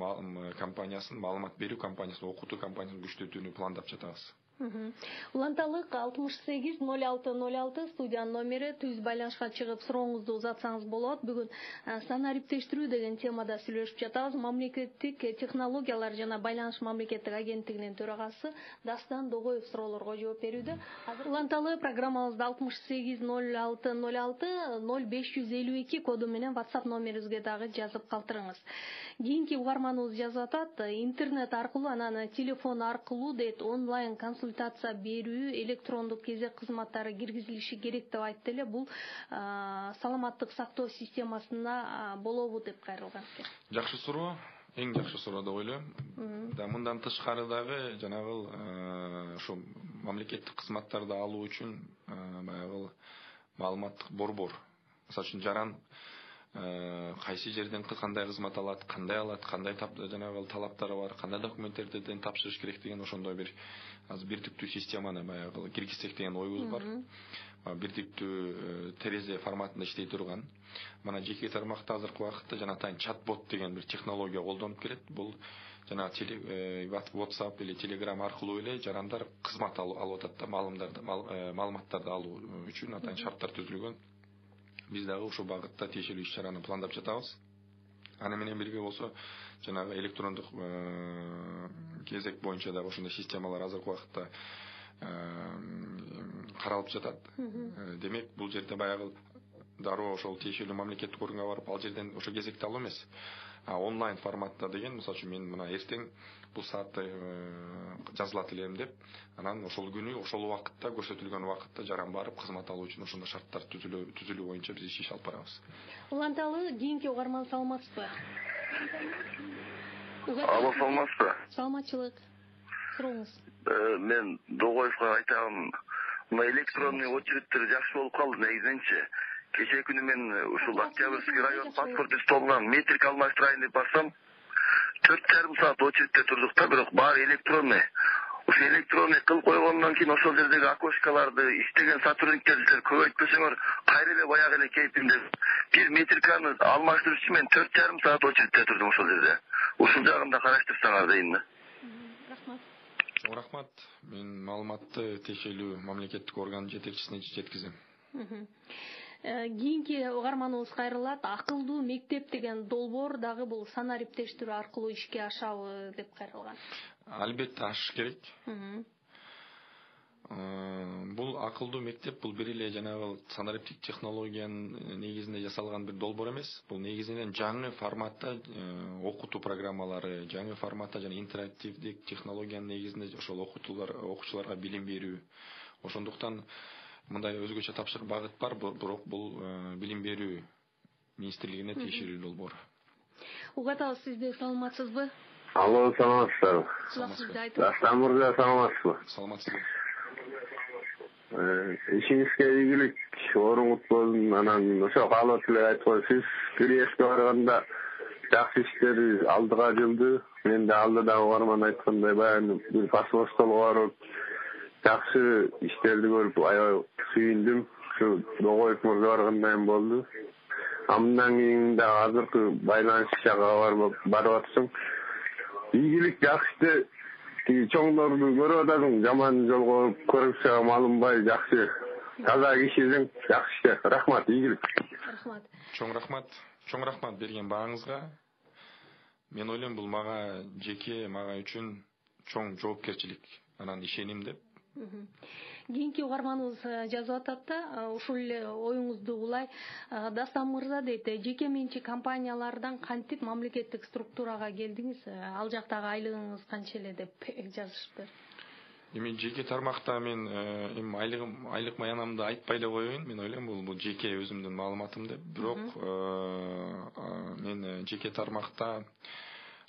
компаниясын, маалымат берүү компаниясын, окутуу компаниясын күчтөтүүнү пландап жатабыз. Уланталык 680606 студиянын номери, түз байланышка чыгып сурооңузду узатсаңыз болот. Бүгүн санариптештирүү деген темада сүйлөшүп жатабыз. Мамлекеттик технологиялар жана байланыш мамлекеттик агенттигинин төрагасы Дастан Догоев суроолорго жооп берүүдө. Азыр уланталы программабызды 680606 0552 коду менен WhatsApp номерибизге дагы жазып калтырыңыз. Кийинки угарманыбыз жазып атат, интернет аркылуу анан телефон аркылуу дейт онлайн консультация берүү, электрондук кезек кызматтары киргизилиши керек деп айтты эле. Бул саламаттык сактоо системасына болобу деп кайрылган. Жакшы суроо, эң жакшы суроо деп ойлойм. Да мындан тышкары дагы жанагыл ошо мамлекеттик кызматтарды алуу үчүн баягы маалыматтык борбор. Мисалы үчүн жаран кайсы жерден кандай кызмат алат, кандай жанагы талаптары бар, кандай документтерден тапшырыш керек деген ошондой бир азыр бирдиктүү системаны баягы киргизсек деген оюбуз бар. Бирдиктүү терезе форматында иштей турган. Мына жеке тармакта азыркы убакытта жана атайын чат-бот деген бир технология колдонуп келет. Бул жана WhatsApp или Telegram аркылуу эле жарандар кызмат алып атат да, маалыматтарды алуу үчүн атайын шарттар түзүлгөн. Биз дагы ушул багытта тиешелүү иш-чараны пландап жатабыз. Аны менен бирге болсо, жанагы электрондук кезек боюнча дагы ошондой системалар азыркы убакытта каралып жатат. Демек, бул жерде баягы дароо ошол тиешелүү мамлекеттик органга барып, ал жерден ошо кезекти алуу эмес. Онлайн форматта деген, мисалы үчүн мен мына эртең бул саатта жазылат элем деп, анан ошол күнү, ошол убакытта, көрсөтүлгөн убакытта жаран барып кызмат алуу үчүн ошондой шарттар түзүлүү боюнча биз иш алып барабыз. Уланталы кийинки угарман саламатсызбы? Алло, саламатсызбы? Саламатчылык. Сурооңуз. Мен Догоевго айтам, мына электронный очередтер жакшы болуп калды негизинчи. Кечээ күнү мен ушул Октябрьский район паспорт столунан метрик алмаштырайын деп барсам, 4,5 саат очередте турдук да, бирок баары электронный. Ошо электронный кылып койгондон кийин ошол жердеги окошкаларды иштеген сотрудниктерди көбөйтпөсөңөр, кайра эле баягы эле кейпинде бир метриканы алмаштырыш үчүн мен 4,5 саат очередте турдум ошол жерде. Ушул жагын да караштырсаңар дейм да. Рахмат. Рахмат. Мен маалыматты тиешелүү мамлекеттик органдын жетекчисине жеткизем. Кийинки угарманыбыз кайрылат. Акылдуу мектеп деген долбоор дагы бул санариптештирүү аркылуу ишке ашабы деп кайрылган. Албетте ашыш керек. Бул акылдуу мектеп бул бир эле жанагы санариптик технологиянын негизинде жасалган бир долбоор эмес. Бул негизинен жаңы форматта окутуу программалары, жаңы форматта жана интерактивдик технологиянын негизинде ошол окуучуларга билим берүү. Ошондуктан мындай өзгөчө тапшырык багыт бар, бирок бул билим берүү министрлигине тиешелүү долбоор. Угатабыз, сизди саламатсызбы? Алло, саламатсызбы? Дастан мырза, саламатсызбы? Саламатсызбы. Ишиңизге ийгилик, орун болсун. Анан ошо каалап эле айтып, сиз Киевке барганда жакшы иштер алдыга жылды. Мен да алдыда угарман айткандай баягы бир паспорт столго барып жакшы иштерди көрүп аябай сүйүндүм. Ушу Догоев мырза баргандай болду. Андан кийин да азыркы байланыш жагы барып атсың. Ийгилик жакшы. Чоңдорду көрүп атасың, жаман жолго көрүпсө малынбай жакшы. Таза кишисиң, жакшы. Рахмат, ийгилик. Рахмат. Чоң рахмат берген бааңызга. Мен ойлойм бул мага үчүн чоң жоопкерчилик. Анан ишеним деп. Кийинки угарманыбыз жазып атат да, ушул эле оюңузду улай. Дастан мырза дейт, жеке менчик компаниялардан кантип мамлекеттик структурага келдиңиз? Ал жактагы айлыгыңыз канча эле деп жазышты. Эми жеке тармакта мен айлык маянамды айтпай эле коеюн. Мен ойлойм бул жеке өзүмдүн маалыматым деп. Бирок мен жеке тармакта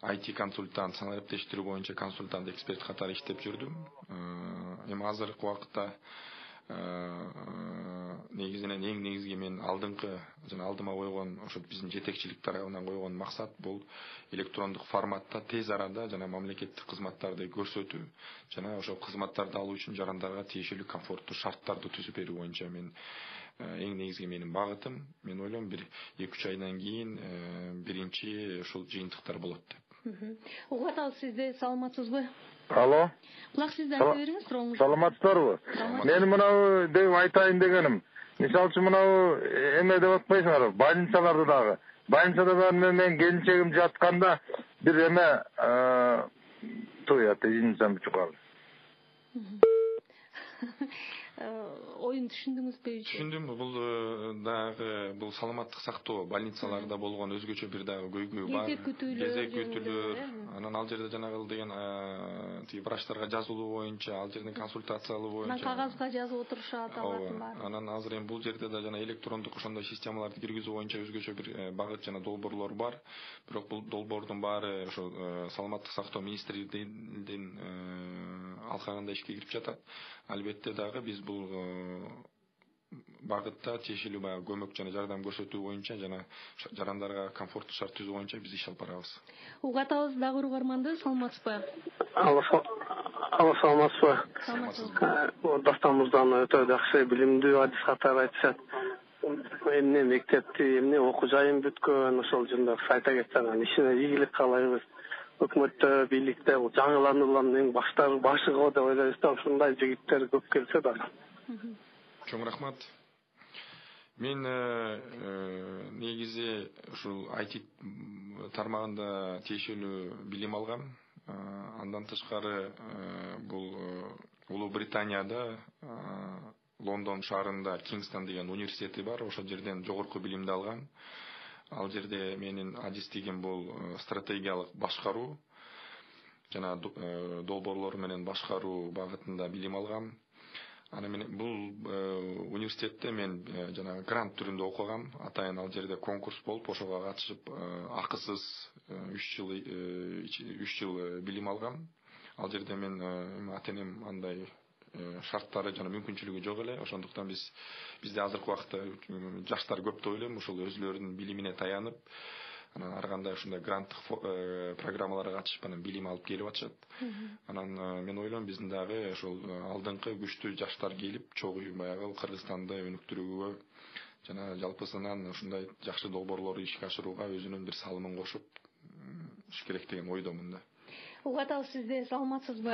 IT консультант, санариптештирүү боюнча консультант, эксперт катары иштеп жүрдүм. Эми азыркы убакытта негизинен эң негизги мен алдыңкы жана алдыма койгон ошо биздин жетекчилик тарабынан койгон максат бул электрондук форматта тез арада жана мамлекеттик кызматтарды көрсөтүү жана ошо кызматтарды алуу үчүн жарандарга тиешелүү комфорттуу шарттарды түзүп берүү боюнча мен эң негизги менин багытым. Мен ойлойм бир 2-3 айдан кийин биринчи ушул жыйынтыктар болот деп. Угуп атабыз, сизди саламатсызбы? Алло. Кулак сизди айта бериңиз, сурооңузду. Саламатсыздарбы? Мен мынау деп айтайын дегеним. Мисалы үчүн мынау эме деп атпайсыңарбы? Больницаларды дагы. Больницада мен келинчегим жатканда бир эме извините, чукал. Оюн түшүндүңүзбү? Түшүндүм. Бул саламаттык сактоо больницаларда болгон өзгөчө бир дагы көйгөй бар. Кезек күтүүлөр. Анан ал жерде жанагыл деген врачтарга жазылуу боюнча, ал жерден консультация алуу боюнча. Кагазга жазып отурушат алардын баары. Анан азыр эми бул жерде да жана электрондук ошондой системаларды киргизүү боюнча өзгөчө бир багыт жана долбоорлор бар. Бирок бул долбоордун баары ошо саламаттык сактоо министрлигинин алкагында ишке кирип жатат. Албетте дагы биз бул багытта тиешелүү баягы көмөк жана жардам көрсөтүү боюнча жана жарандарга комфорттуу шарт түзүү боюнча биз иш алып барабыз. Угуп атабыз, дагы угарманды, саламатсызбы? Алло, саламатсызбы? Дастан өтө жакшы билимдүү адис катары айтышат. Эмне мектепти, эмне окуу жайын бүткөн, ошол жөнүндө айта кетсең, ишине ийгилик каалайбыз. Өкмөттө, бийликте жаңылануулардын эң башы го деп ойлойбуз да, ушундай жигиттер көп келсе да. Чоң рахмат. Мен негизи ушул IT тармагында тиешелүү билим алгам. Андан тышкары бул Улуу Британияда Лондон шаарында Кингстон деген университети бар. Ошол жерден жогорку билимди алгам. Ал жерде менин адистигим бул стратегиялык башкаруу жана долбоорлор менен башкаруу багытында билим алгам. Аны менен бул университетте мен жана грант түрүндө окугам. Атайын ал жерде конкурс болуп, ошого катышып акысыз 3 жыл билим алгам. Ал жерде мен ата-энем андай шарттары жана мүмкүнчүлүгү жок эле. Ошондуктан бизде азыркы убакытта жаштар көп деп ойлойм, ошол өзүлөрүнүн билимине таянып, анан ар кандай ушундай гранттык программаларга катышып анан билим алып келип атышат. Анан мен ойлойм биздин дагы ошол алдыңкы күчтүү жаштар келип, чогуу баягы Кыргызстанды өнүктүрүүгө жана жалпысынан ушундай жакшы долбоорлорду ишке ашырууга өзүнүн бир салымын кошуп иш керек деген ойдомун да. Угуп атабыз, сизди саламатсызбы?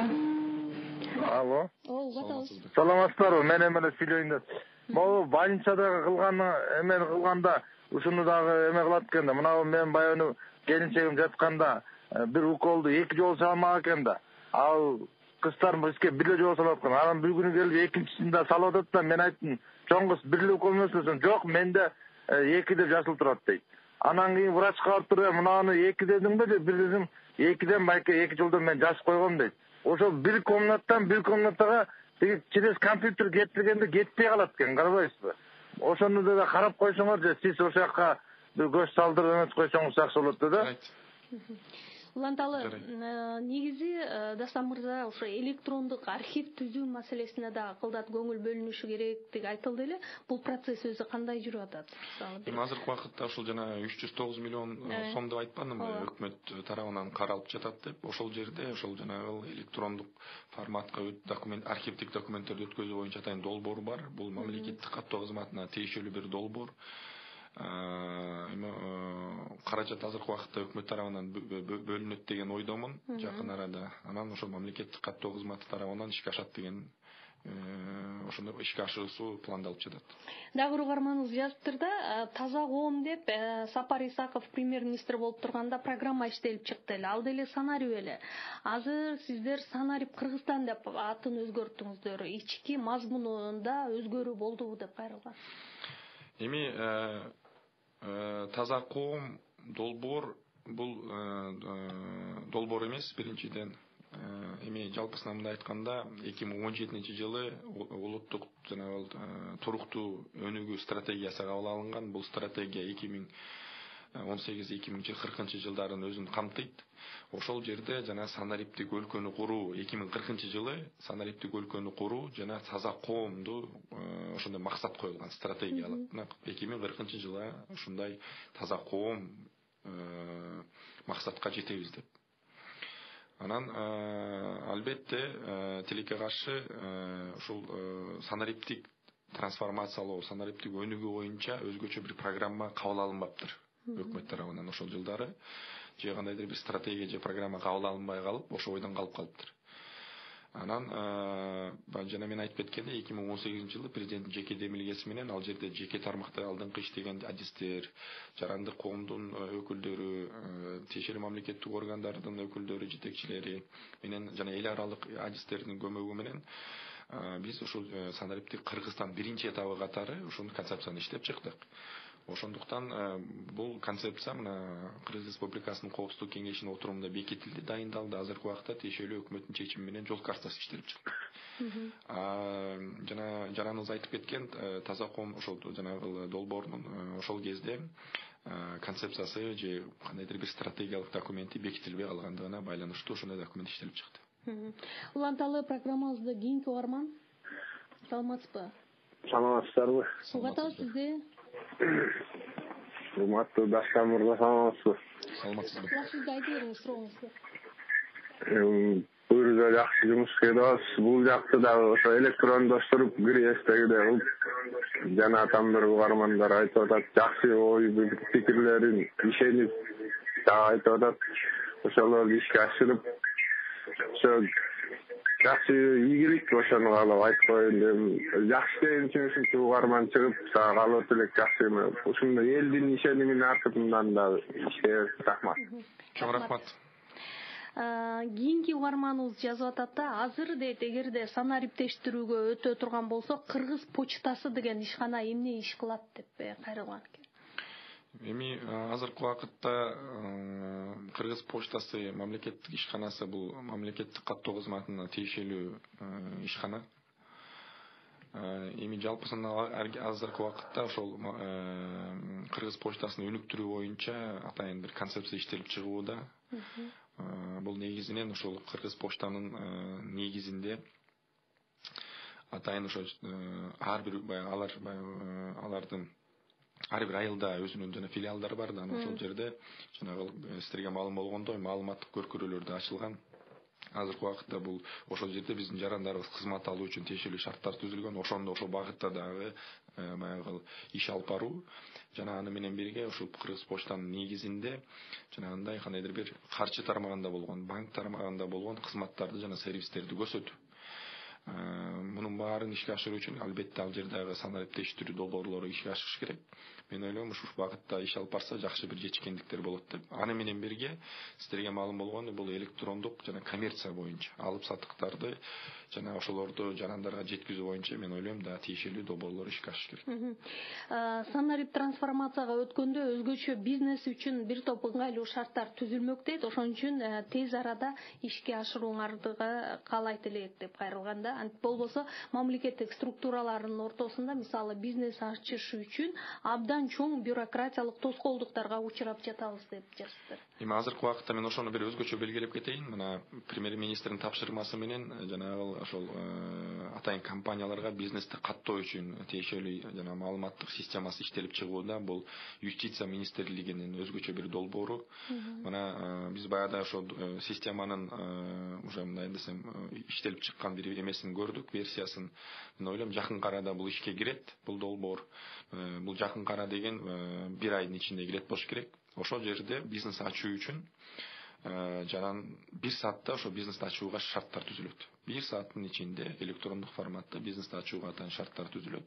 Алло. Угуп атабыз. Саламатсыздарбы? Мен эме сүйлөйүн деп. Могу больницада кылганда ушуну дагы эме кылат экен да. Мына мен баягы келинчегим жатканда бир уколду 2 жолу салмак экен да. Ал кыздарым бизге бир жолу салып аткан. Анан бир күнү келип экинчисин да салып атат да, мен айттым, "Чоң кыз, бир укол эмес десем, "Жок, менде 2 деп жазылып турат" дейт. Анан кийин врачка барып туруп, "Мынаны 2 дедиңби?" деп, "Бир дедим, 2ден байке 2 жылдан мен жазып койгом" дейт. Ошол бир комнатага через компьютер кетиргенде кетпей калат экен, карабайсызбы? Ошону да карап койсоңор же сиз ошол жака бир көз салдырып эмес койсоңуз жакшы болот да. Уланталы, негизи Дастан мырза ошо электрондук архив түзүү маселесине да кылдат көңүл бөлүнүшү керектиги айтылды эле. Бул процесс өзү кандай жүрүп атат? Азыркы убакытта ушул жана 309 миллион сом деп айтпадымбы, өкмөт тарабынан каралып жатат деп. Ошол жерде ошол жанагы электрондук форматка архивдик документтерди өткөзүү боюнча атайын долбоор бар. Бул мамлекеттик каттоо кызматына тиешелүү бир долбоор. Каражат азыркы убакытта өкмөт тарабынан бөлүнөт деген ойдомун жакын арада. Анан ошол мамлекеттик каттоо кызматы тарабынан ишке ашат деген ошондой ишке ашыруусу пландалып жатат. Дагы бир угарманыбыз жазыптыр да, таза коом деп Сапар Исаков премьер-министр болуп турганда программа иштелип чыкты эле. Ал деле сценарий эле. Азыр сиздер сценарий Кыргызстан деп атын өзгөрттүңүздөр. Ички мазмунунда өзгөрүү болдубу деп кайрылган. Эми таза коом долбоор бул долбоор эмес, биринчиден. Эми жалпысынан мындай айтканда 2017-жылы улуттук жанагы туруктуу өнүгүү стратегиясы кабыл алынган. Бул стратегия 18-2040 жылдарын өзүн камтыйт. Ошол жерде жана санариптик өлкөнү куруу 2040 жылы санариптик өлкөнү куруу жана таза коомду ошондой максат коюлган стратегиялык. 2040 жылы ушундай таза коом максатка жетебиз деп. Анан албетте тилекке каршы ушул санариптик трансформациялоо, санариптик өнүгүү боюнча өзгөчө бир программа кабыл алынбаптыр өкмөт тарабынан ошол жылдары. Же кандайдыр бир стратегия же программа кабыл алынбай калып, ошо ойдон калып калыптыр. Анан жана мен айтып кеткендей 2018 жылы президенттин жеке демилгеси менен ал жерде жеке тармакта алдыңкы иштеген адистер, жарандык коомдун өкүлдөрү, тиешелүү мамлекеттик органдардын өкүлдөрү, жетекчилери менен жана эл аралык адистердин көмөгү менен биз ушул санариптик Кыргызстан биринчи этабы катары ушул концепцияны иштеп чыктык. Ошондуктан бул концепция мына Кыргыз Республикасынын Коопсуздук кеңешинин отурумунда бекитилди, дайындалды. Азыркы убакта тиешелүү өкмөттүн чечими менен жол картасы иштелип чыкты. Жана жараныбыз айтып кеткен таза коом ошол жанагы долбоордун ошол кезде концепциясы же кандайдыр бир стратегиялык документи бекитилбей калгандыгына байланыштуу ошондой документ иштелип чыкты. Уланталы программабызды кийинки угарман. Саламатсызбы? Саламатсыздарбы? Сугата сизде. Урматтуу Дастан мырза, саламатсызбы? Саламатсызбы? Сизге айтып бериңиз сурооңузду. Бuyurza жакшы жумуш кылып атабыз. Бул жакты дагы ошо электрондоштуруп кирээстегидей кылып жана там бир угармандар айтып атат, жакшы ой пикирлерин ишенип дагы айтып атат. Ошолорду ишке ашырып ошо жакшы ийгилик ошону каалап айтып коеюн дедим. Жакшы деген үчүн ушинчи угарман чыгып сага каалоо тилек жакшы эме. Ушундай элдин ишенимин артынан дагы иштебиз. Рахмат. Чоң рахмат. Кийинки угарманыбыз жазып атат да, азыр дейт, эгерде санариптештирүүгө өтө турган болсо, Кыргыз почтасы деген ишкана эмне иш кылат деп кайрылган экен. Эми азыркы убакытта Кыргыз почтасы мамлекеттик ишканасы, бул мамлекеттик каттоо кызматына тиешелүү ишкана. Эми жалпысынан азыркы убакытта ошол Кыргыз почтасын өнүктүрүү боюнча атайын бир концепция иштелип чыгууда. Бул негизинен ошол Кыргыз почтанын негизинде атайын ошо ар бир алардын ар бир айылда өзүнүн жана филиалдары бар да, ошол жерде жанагы сиздерге маалым болгондой маалыматтык көркүрөлөр да ачылган. Азыркы убакытта бул ошол жерде биздин жарандарыбыз кызмат алуу үчүн тиешелүү шарттар түзүлгөн. Ошондо ошол багытта дагы баягы иш алып баруу жана аны менен бирге ушул Кыргыз почтанын негизинде жанагындай кандайдыр бир каржы тармагында болгон, банк тармагында болгон кызматтарды жана сервистерди көрсөтүү. Мунун баарын ишке ашыруу үчүн албетте ал жердеги санариптештирүү долбоорлору ишке ашыш керек. Мен ойлойм ушул багытта иш алып барса жакшы бир жетишкендиктер болот деп. Аны менен бирге сиздерге маалым болгондой бул электрондук жана коммерция боюнча алып сатыктарды жана ошолорду жарандарга жеткизүү боюнча мен ойлойм да тиешелүү долбоорлор ишке ашыш керек. Санарип трансформацияга өткөндө өзгөчө бизнес үчүн бир топ ыңгайлуу шарттар түзүлмөк дейт. Ошон үчүн тез арада ишке ашырууңарды каалайт элек деп кайрылганда. Болбосо мамлекеттик структуралардын ортосунда мисалы бизнес ачыш үчүн абдан чоң бюрократиялык тоскоолдуктарга учурап жатабыз деп жазыптыр. Эми азыркы убакытта мен ошону бир өзгөчө белгилеп кетейин. Мына премьер-министрдин тапшырмасы менен жанагы ошол атайын компанияларга бизнести каттоо үчүн тиешелүү жана маалыматтык системасы иштелип чыгууда. Бул юстиция министрлигинин өзгөчө бир долбоору. Мына биз баягы ошол системанын уже мындай десем иштелип чыккан бир эмесин көрдүк, версиясын. Мен ойлойм жакын арада бул ишке кирет, бул долбоор. Бул жакын ара деген бир айдын ичинде кирет болуш керек. Ошол жерде бизнес ачуу үчүн жаран бир саатта ошо бизнести ачууга шарттар түзүлөт. Бир сааттын ичинде электрондук форматта бизнести ачууга атайын шарттар түзүлөт.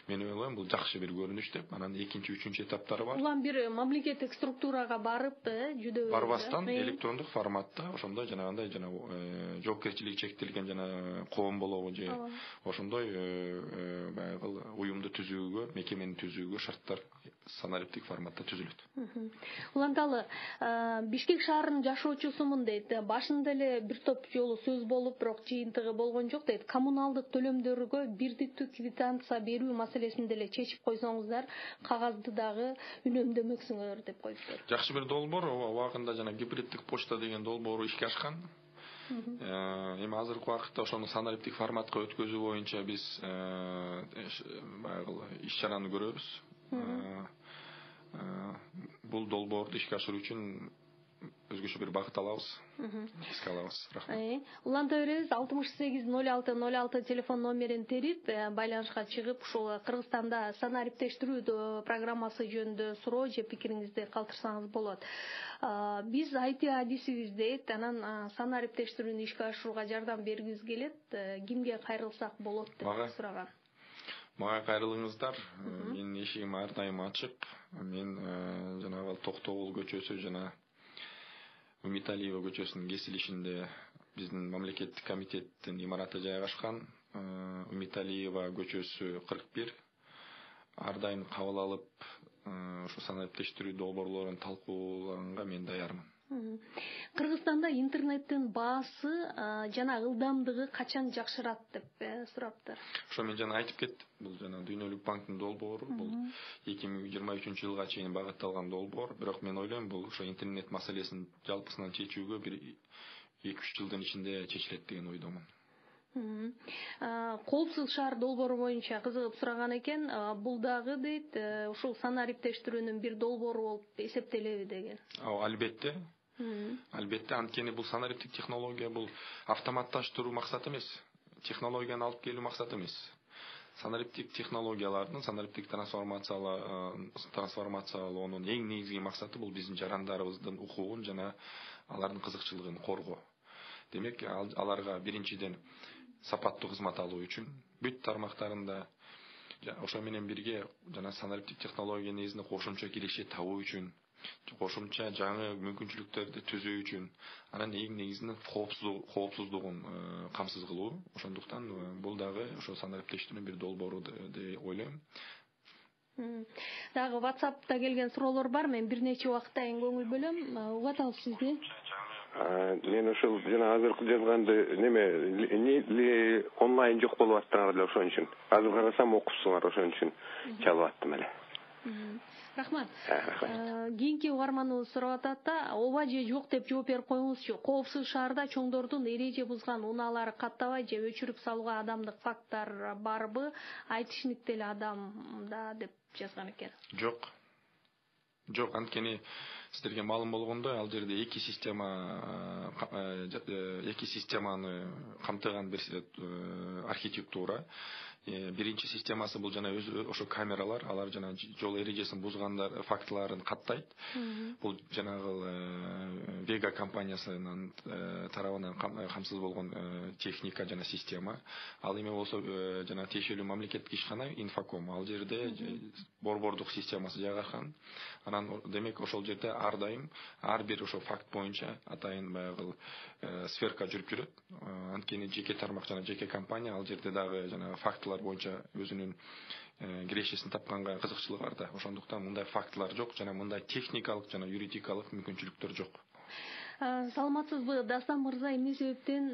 Мен ойлойм бул жакшы бир көрүнүш деп. Анан экинчи, үчүнчү этаптары бар. Улам бир мамлекеттик структурага барып, жүдөбүз. Барбастан электрондук форматта ошондой жанагындай жоопкерчилиги чектелген жана коом болобу же ошондой баягы уюмду түзүүгө, мекемени түзүүгө шарттар санариптик форматта түзүлөт. Уланталы Бишкек шаарынын жашоочусумун дейт. Башында эле бир топ жолу сөз болуп, бирок жыйынтыгы болгон жок дейт. Коммуналдык төлөмдөргө бирдиктүү квитанция берүү маселесин деле чечип койсоңуздар, кагазды дагы үнөмдөмөксүңөр деп коюптур. Жакшы бир долбоор, убагында жана гибриддик почта деген долбоору ишке ашкан. Эми азыркы убакытта ошону санариптик форматка өткөзүү боюнча биз баягы иш чараны көрөбүз. Бул долбоорду ишке ашыруу үчүн өзгөчө бир багыт алабыз. Эске алабыз. Рахмат. Уланта беребиз. 680606 телефон номерин терип байланышка чыгып, ушул Кыргызстанда санариптештирүү программасы жөнүндө суроо же пикириңизди калтырсаңыз болот. Биз IT адисибиз анан санариптештирүүнү ишке ашырууга жардам бергибиз келет. Кимге кайрылсак болот деп сураган. Мага кайрылыңыздар. Менин эшигим ар дайым ачык. Мен жанагы Токтогул көчөсү жана Үмүталиева көчөсүнүн кесилишинде биздин мамлекеттик комитеттин имараты жайгашкан. Үмүталиева көчөсү 41. Ар дайым кабыл алып, ошо санариптештирүү долбоорлорун талкуулаганга мен даярмын. Кыргызстанда интернеттин баасы жана ылдамдыгы качан жакшырат деп сураптыр. Ошо мен жана айтып кеттим. Бул жана Дүйнөлүк банктын долбоору, бул 2023-жылга чейин багытталган долбоор. Бирок мен ойлойм, бул ошо интернет маселесин жалпысынан чечүүгө бир 2-3 жылдын ичинде чечилет деген ойдомун. Коопсуз шаар долбоору боюнча кызыгып сураган экен. Бул дагы дейт, ушул санариптештирүүнүн бир долбоору болуп эсептелеби деген. Албетте. Албетте, анткени бул санариптик технология бул автоматташтыруу максаты эмес, технологияны алып келүү максаты эмес. Санариптик технологиялардын, санариптик трансформациялоонун эң негизги максаты бул биздин жарандарыбыздын укугун жана алардын кызыкчылыгын коргоо. Демек, аларга биринчиден сапаттуу кызмат алуу үчүн бүт тармактарында ошо менен бирге жана санариптик технология негизинде кошумча киреше табуу үчүн, кошумча жаңы мүмкүнчүлүктөрдү түзүү үчүн, анан эң негизинен коопсуздугун камсыз кылуу. Ошондуктан бул дагы ошо санариптештирүүнүн бир долбоору деп ойлойм. Дагы WhatsApp'та келген суроолор бар. Мен бир нече убакытта көңүл бөлөм. Угат алып сизди. Мен ошол жана азыркы жазганды неме онлайн жок болуп аттыңар эле ошон үчүн. Азыр карасам окупсуңар, ошон үчүн чалып аттым эле. Рахмат. Кийинки угарманыбыз сурап атат да, ооба же жок деп жооп берип коюңузчу. Коопсуз шаарда чоңдордун эреже бузган унаалары каттабай же өчүрүп салууга адамдык факттар барбы? Айтышник деле адамда деп жазган экен. Жок. Жок, анткени сиздерге маалым болгондой, ал жерде эки системаны камтыган бир архитектура. Биринчи системасы бул жана ошо камералар, алар жана жол эрежесин бузгандар фактыларын каттайт. Бул жанагы Vega компаниясынын тарабынан камсыз болгон техника жана система. Ал эме болсо жана тиешелүү мамлекеттик ишкана Инфоком, ал жерде борбордук системасы жайгашкан. Анан демек ошол жерде ар дайым ар бир ошо факт боюнча атайын баягы сверка жүрүп жүрөт. Анткени жеке тармак жана жеке компания ал жерде дагы жана фактылар боюнча өзүнүн кирешесин тапканга кызыкчылыгы бар да. Ошондуктан мындай фактылар жок жана мындай техникалык жана юридикалык мүмкүнчүлүктөр жок. Саламатсызбы, Дастан мырза, эмне себептен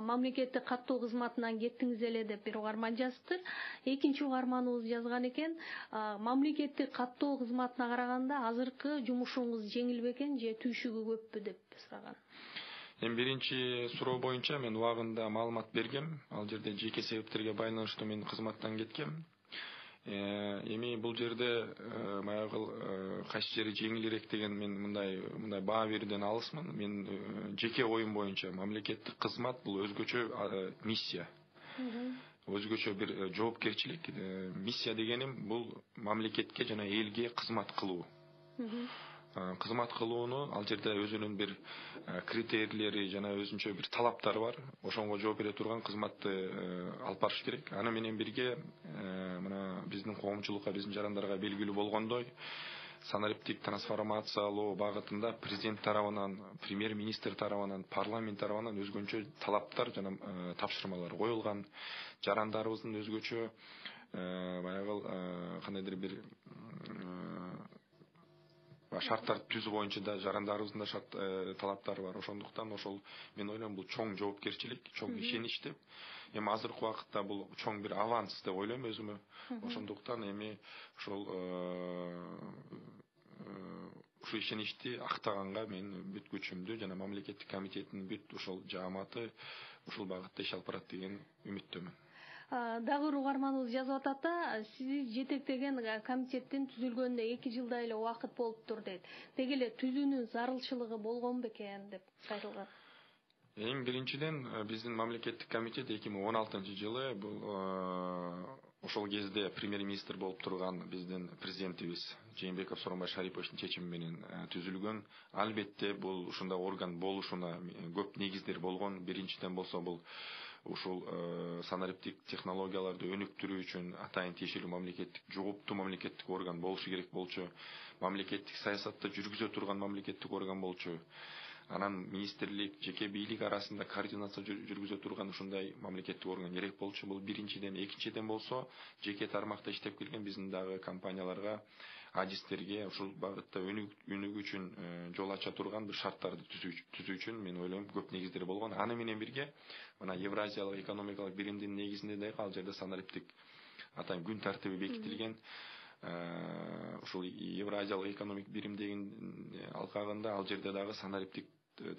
мамлекеттик каттоо кызматынан кеттиңиз эле деп бир угарман жазыптыр. Экинчи угарманыбыз жазган экен, мамлекеттик каттоо кызматына караганда азыркы жумушуңуз жеңил бекен же түйшүгү көппү деп сураган. Эми биринчи суроо боюнча мен убагында маалымат бергем. Ал жерде жеке себептерге байланыштуу мен кызматтан кеткем. Эми бул жерде баягы кайсы жери жеңилирээк деген мен мындай баа берүүдөн алысмын. Мен жеке оюм боюнча мамлекеттик кызмат бул өзгөчө миссия. Өзгөчө бир жоопкерчилик. Миссия дегеним бул мамлекетке жана элге кызмат кылуу. Кызмат кылууну ал жерде өзүнүн бир критерийлери жана өзүнчө бир талаптары бар. Ошонго жооп бере турган кызматты алып барыш керек. Аны менен бирге мына биздин коомчулукка, биздин жарандарга белгилүү болгондой, санариптик трансформациялоо багытында президент тарабынан, премьер-министр тарабынан, парламент тарабынан өзгөчө талаптар жана тапшырмалар коюлган. Жарандарыбыздын өзгөчө баягы кандайдыр бир шарттар түзүү боюнча да жарандарыбыздын да талаптары бар. Ошондуктан ошол мен ойлойм бул чоң жоопкерчилик, чоң ишенич деп. Эми азыркы убакытта бул чоң бир аванс деп ойлойм өзүмө. Ошондуктан эми ошол ушу ишеничти актаганга мен бүт күчүмдү жана мамлекеттик комитеттин бүт ошол жааматы ушул багытта иш алып барат деген үмүттөмүн. Дагы бир угарманыбыз жазып атат да, сиз жетектеген комитеттин түзүлгөнүнө 2 жылдай эле убакыт болуптур дейт. Деги эле түзүүнүн зарылчылыгы болгон бекен деп кайрылган. Эң биринчиден биздин мамлекеттик комитет 2016-жылы бул ошол кезде премьер-министр болуп турган биздин президентибиз Жээнбеков Сооронбай Шариповичтин чечими менен түзүлгөн. Албетте бул ушундай орган болушуна көп негиздер болгон. Биринчиден болсо бул ушул санариптик технологияларды өнүктүрүү үчүн атайын тиешелүү мамлекеттик жооптуу мамлекеттик орган болушу керек болчу. Мамлекеттик саясатты жүргүзө турган мамлекеттик орган болчу. Анан министрлик, жеке бийлик арасында координация жүргүзө турган ушундай мамлекеттик орган керек болчу. Бул биринчиден. Экинчиден болсо, жеке тармакта иштеп келген биздин дагы компанияларга, адистерге ушул багытта өнүгүү үчүн жол ача турган бир шарттарды түзүү үчүн мен ойлойм көп негиздер болгон. Аны менен бирге мына Евразиялык экономикалык биримдин негизинде дагы ал жерде санариптик атайын күн тартиби бекитилген. Ушул Евразиялык экономик бирим деген алкагында ал жерде дагы санариптик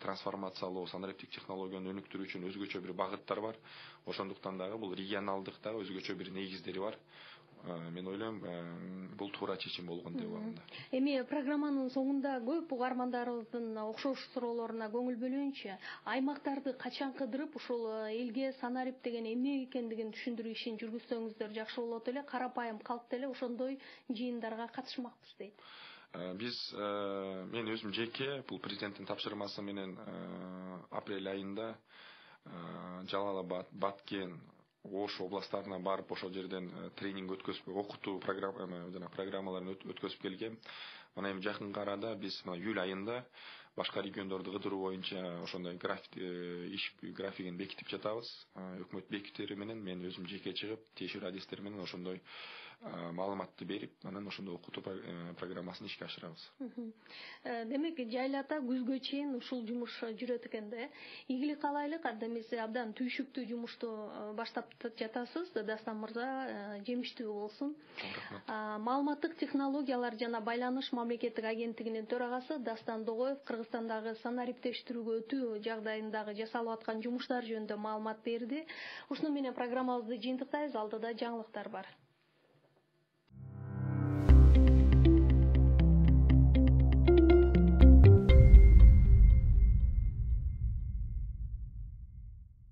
трансформациялоо, санариптик технологияны өнүктүрүү үчүн өзгөчө бир багыттар бар. Ошондуктан дагы бул регионалдык дагы өзгөчө бир негиздери бар. Мен ойлойм, бул туура чечим болгон деп ойлойм. Эми программанын соңунда көп угармандарыбыздын окшош суроолоруна көңүл бөлөйүнчү. Аймактарды качан кыдырып, ушул элге санарип деген эмне экендигин түшүндүрүү ишин жүргүзсөңүздөр жакшы болот эле. Карапайым калк деле ошондой жыйындарга катышмакпыз дейт. Биз мен өзүм жеке бул президенттин тапшырмасы менен апрель айында Жалал-Абад, Баткен, Ош областарына барып ошол жерден тренинг өткөзүп, окутуу программаларын өткөзүп келгем. Мына эми жакынкы арада биз июль айында башка региондорду кыдыруу боюнча ошондой иш графигин бекитип жатабыз. Өкмөт бекитери менен мен өзүм жеке чыгып, тиешелүү адистер менен ошондой маалыматты берип, анан ошондой окутуу программасын ишке ашырабыз. Демек, жайлата күзгө чейин ушул жумуш жүрөт экен да. Ийгилик каалайлык, адемиси абдан түйшүктүү жумушту баштап жатасыз. Дастан мырза, жемиштүү болсун. Маалыматтык технологиялар жана байланыш мамлекеттик агенттигинин төрагасы Дастан Догоев Кыргызстандагы санариптештирүүгө өтүү жагдайындагы жасалып аткан жумуштар жөнүндө маалымат берди. Ушуну менен программабызды жыйынтыктайбыз. Алдыда жаңылыктар бар.